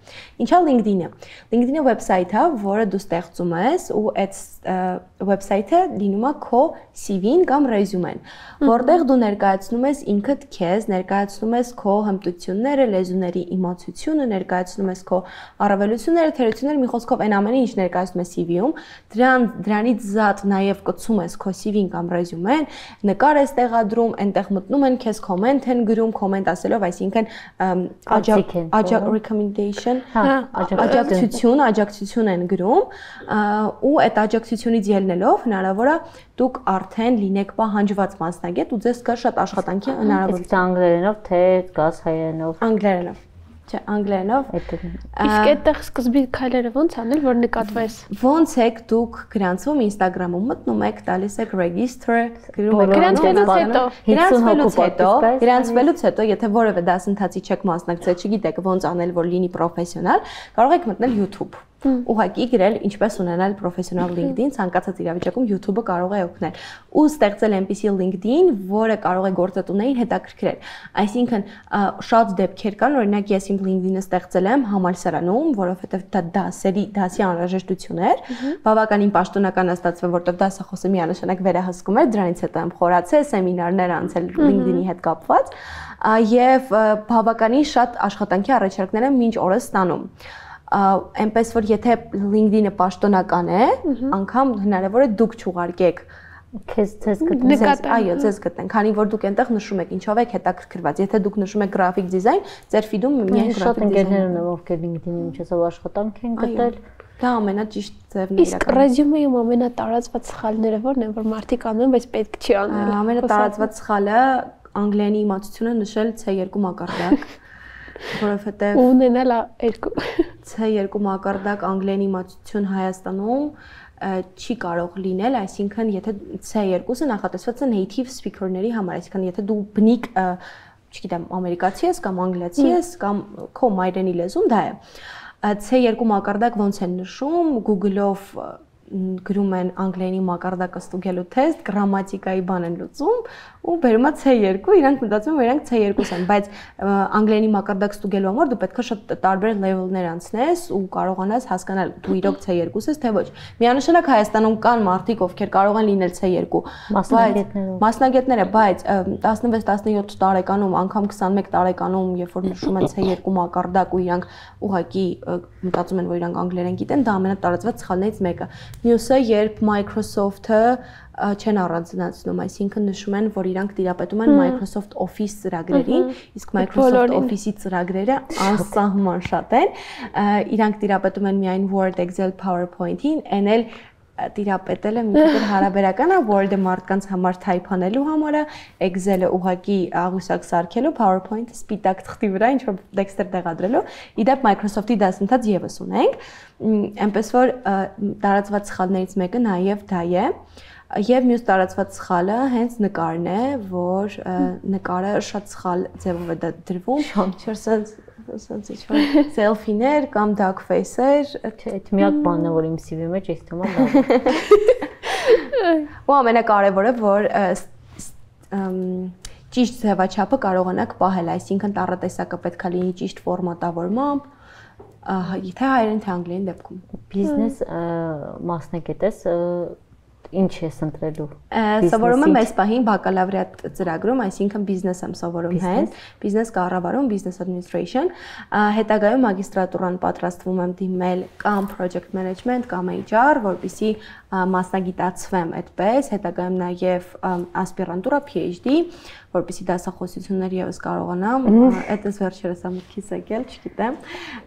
Ինչա LinkedIn-ը։ LinkedIn-ը վեբսայթ է, որը դու ստեղծում ես ու այդ վեբսայթը լինում է քո սի վին կամ ռեզյումեն, որտեղ դու ներկայացնում ես ինքդ քեզ, ներկայացնում ես քո հմտությունները, լեզուների իմացությունը, ներկայացնում ես քո առավելությունները, թերությունները, մի խոսքով այն ամենը, ինչ ներկայացնում ես սի վի-ում, դրան դրանից զատ նաեւ կցում ես քո սի վին կամ ռեզյումեն, նկար ես տեղադրում, այնտեղ մտնում են քեզ կոմենտ են գրում, կոմենտ ասելով, այսինքն աջակ recommendation, աջակցություն, աջակցություն են գրում, ու այդ աջակցությունից ելնելով հնարավոր է դուք արդեն լինեք պահանջված մասնագետ ու ձեզ կա շատ աշխատանքի հնարավորություն։ Անգլերենով թե գազ հայերենով։ Անգլերենով։ Չէ, անգլերենով։ Իսկ այդտեղ սկզբի քայլերը ո՞նց անել, որ նկատվես։ Ոնց եք դուք գրանցում Instagram-ում մտնում եք, տալիս եք register, գրում եք գրանցվելուց հետո, գրանցվելուց հետո, գրանցվելուց հետո, եթե որևէ դասընթացի չեք մասնակցել, չգիտեք ոնց անել, որ լինի պրոֆեսիոնալ, կարող եք մտնել YouTube։ Ուղղակի գրել ինչպես ունենալ պրոֆեսիոնալ LinkedIn, ցանկացած իրավիճակում YouTube-ը կարող է օգնել։ Ու ստեղծել այնպիսի LinkedIn, որը կարող է գործատուներին հետաքրքրել։ Այսինքն շատ դեպքեր կան, օրինակ ես իմ LinkedIn-ը ստեղծել եմ համալսարանում, որովհետև դա դասերի, դասի անհրաժեշտություն էր, բավականին պաշտոնական ստացվել, որտեղ դասախոսը միանշանակ վերահսկում էր, դրանից հետո եմ խորացել, սեմինարներ անցել LinkedIn-ի հետ կապված, եւ բավականին շատ աշխատանքի առաջարկներ եմ մինչ օրս ստանում։ Այնպես որ եթե LinkedIn-ը պաշտոնական է, անգամ հնարավոր է դուք չուղարկեք քեզ ձեզ գտնեն, այո, ձեզ գտնեն, քանի որ դուք այնտեղ նշում եք ինչով եք հետաքրքրված։ Եթե դուք նշում եք գրաֆիկ դիզայն, ձեր ֆիդում միայն շատ ընկերներ ունեմ, ովքեր LinkedIn-ի միջոցով աշխատանք են գտել։ Դա ամենաճիշտ ձևն է։ Իսկ ռեզյումեում ամենատարածված սխալները ո՞րն են, որ մարդիկ անում են, բայց պետք չի անել։ Ամենատարածված սխալը անգլերենի իմացությունը նշել C two մակարդակ, որովհետև ունենալ երկու C two մակարդակ անգլերենի իմացություն Հայաստանում չի կարող լինել, այսինքն եթե C two-ը նախատեսված է native speaker-ների համար, այսինքն եթե դու բնիկ, չգիտեմ, ամերիկացի ես կամ անգլիացի ես կամ քո մայրենի լեզուն դա է։ C two մակարդակ ոնց են նշում, Google-ով գրում են անգլերենի մակարդակը ստուգելու թեստ, գրամատիկայի բան են լուծում ու բերում է C two, իրանք մտածում են, իրանք C two են, բայց անգլերենի մակարդակ ստուգելու համար դու պետք է շատ տարբեր level-ներ անցնես ու կարողանաս հասկանալ դու իրոք C two ես թե ոչ։ Միանշանակ Հայաստանում կան մարդիկ, ովքեր կարող են լինել C two, մասնագետները, բայց տասնվեց տասնյոթ տարեկանում, անգամ քսանմեկ տարեկանում, երբ որ նշում են C two մակարդակ ու իրանք ուղղակի մտածում են, որ իրանք անգլերեն գիտեն, դա ամենատարածված սխալներից մեկը։ Մյուսը, երբ Microsoft-ը չեն առանձնացնում, այսինքն նշում են, որ իրանք տիրապետում են Microsoft Office ծրագրերին, իսկ Microsoft Office-ի ծրագրերը անսահման շատ են, իրանք տիրապետում են միայն Word, Excel, PowerPoint-ին, այն էլ տիրապետելը մի քիչ հարաբերական է, Word-ը մարդկանց համար թայփանելու համար է, Excel-ը ուղղակի աղյուսակ սարքելու, PowerPoint-ը սպիտակ թղթի վրա ինչ-որ տեքստեր տեղադրելու։ Իդեպ Microsoft-ի դասընթաց եւս ունենք, այնպես որ տարածված սխալներից մեկը նաեւ դա է։ Եվ մյուս տարածված սխալը հենց նկարն է, որ նկարը շատ սխալ ձևով է դրվում, չորսած ասած ինչ-որ սելֆիներ կամ duck face-եր, չէ, այդ միակ բանն է, որ իմ սի վի մեջ էս թվում է։ Ու ամենակարևորը, որ ճիշտ ձևաչափը կարողանաք պահել, այսինքն տառատեսակը պետք է լինի ճիշտ ֆորմատավորմամբ, թե հայերեն թե անգլերեն դեպքում։ Բիզնես մասնագետ ես, ինչ ես ընտրելու։ Սովորում եմ այս պահին բակալավրիատ ծրագրում, այսինքն բիզնես եմ սովորում հենց, բիզնես կառավարում, business administration, հետագայում մագիստրատուրան պատրաստվում եմ դիմել կամ project management կամ H R, որպեսզի մասնագիտացվեմ այդպես, հետագայում նաև ասպիրանտուրա P H D, որպեսզի դասախոսություններ եւս կարողանամ, այդպես վերջերս ամոթքիս եկել, չգիտեմ։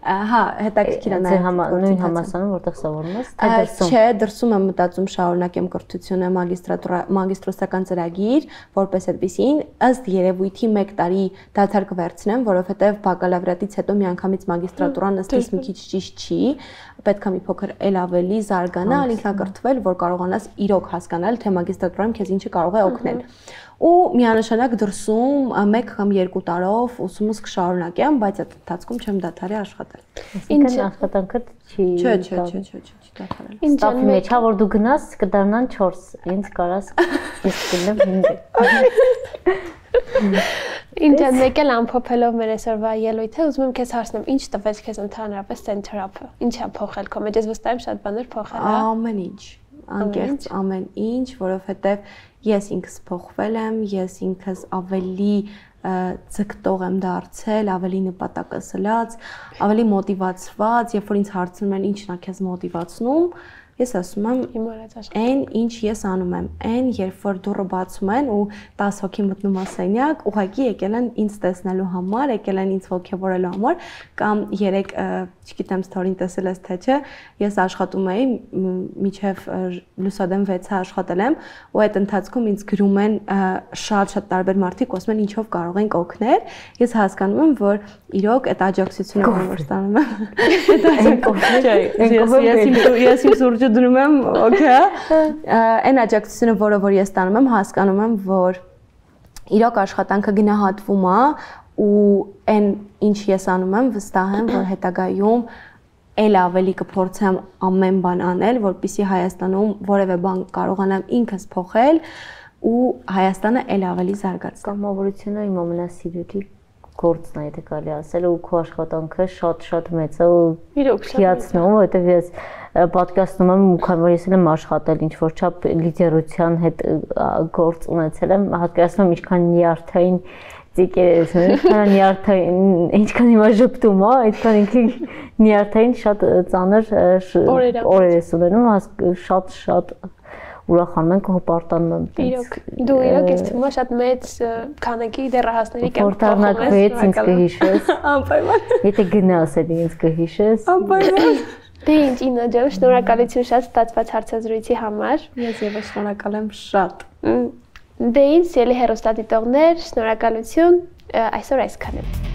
Հա, հետաքրքիր է նաև նույն համալսարանում, որտեղ սովորում ես, թե դրսում։ Չէ, դրսում եմ մտածում շարունակեմ կրթությունը, մագիստրատուրա, մագիստրոսական ծրագիր, որպես այդպեսին, ըստ երևույթի մեկ տարի դադար կվերցնեմ, որովհետեւ բակալավրիատից հետո միանգամից մագիստրատուրան ըստիս մի քիչ ճիշտ չի, պետք է մի փոքր էլ ավելի զարգանալ, ինքնակրթվել, որ կարողանաս իրոք հասկանալ, թե մագիստրատուրայում քեզ ինչը կարող է օգնել։ Ու միանշանակ դրսում մեկ կամ երկու տարով ուսումս կշարունակեմ, բայց այդ ընթացքում չեմ դադարի աշխատել։ Ինչ աշխատանքը չի։ Չէ, չէ, չէ, չէ, չի դադարել։ Ստափի մեջ, հա որ դու գնաս, կդառնան չորս, ինձ կարաս ես գնեմ հինգ։ Ինչ մեկ էլ ամփոփելով մեր այսօրվա ելույթը, ուզում եմ քեզ հարցնեմ, ինչ տվեց քեզ ընդհանրապես Center-ը։ Ինչ է փոխել քո մեջ, ես վստահ եմ շատ բաներ փոխել է։ Ամեն ինչ, անկեղծ ամեն ինչ, որովհետև ես ինքս փոխվել եմ, ես ինքս ավելի ձգտող եմ դարձել, ավելի նպատակասլաց, ավելի մոտիվացված, երբ որ ինձ հարցնում են ինչն է քեզ մոտիվացնում, ես ասում եմ այն ինչ ես անում եմ, այն երբ որ դուռը բացում են ու տասը հոգի մտնում ասենյակ, ուղղակի եկել են ինձ տեսնելու համար, եկել են ինձ ողջևորելու համար, կամ երեք, չգիտեմ, ստորին տեսել ես թե չէ, ես աշխատում էի մինչև լուսադեմ վեցը աշխատել եմ, ու այդ ընթացքում ինձ գրում են շատ-շատ տարբեր մարդիկ, ասում են ինչով կարող ենք օգնել, ես հասկանում եմ, որ իրոք այդ աջակցությունը որ ստանում եմ, ես իմ սուրճը դնում եմ, օքեյ, այն աջակցությունը, որը որ ես ստանում եմ, հասկանում եմ, որ իրոք աշխատանքը գնահատվում է ու այն ինչ ես անում եմ, վստահ եմ, որ հետագայում էլ ավելի կփորձեմ ամեն բան անել, որպեսզի Հայաստանում որևէ բան կարողանամ ինքս փոխել ու Հայաստանը էլ ավելի զարգացնել։ Կամավորությունը իմ ամենասիրելի գործն է, եթե կարելի ասել, ու քո աշխատանքը շատ-շատ մեծ է ու հիացնում, որովհետև ես պատկասնում եմ ու քանի որ ես եմ աշխատել ինչ որ չափ լիդերության հետ գործ ունեցել եմ, հատկացնում ինչքան նյարդային ծիկեր ես, ինչքան նյարդային, ինչքան հիմա ժպտում է, այդքան ինքը նյարդային շատ ծանր օրեր ես ունենում, շատ-շատ ուրախանում ենք ու հպարտանում եմ։ Իրոք, դու իրոք ես թվում է շատ մեծ քանակի դեռահասների կյանք փոխում ես։ Որտառնակ ինձ կհիշես։ Անպայման։ Եթե գնաս էլի ինձ կհիշես։ Անպայման։ Դե ինչ Իննա ջան, շնորհակալություն շատ ստացված հարցազրույցի համար։ Ես եւս շնորհակալ եմ շատ։ Դե ինչ, ելի հեռուստադիտողներ, շնորհակալություն, այսօր այսքան է։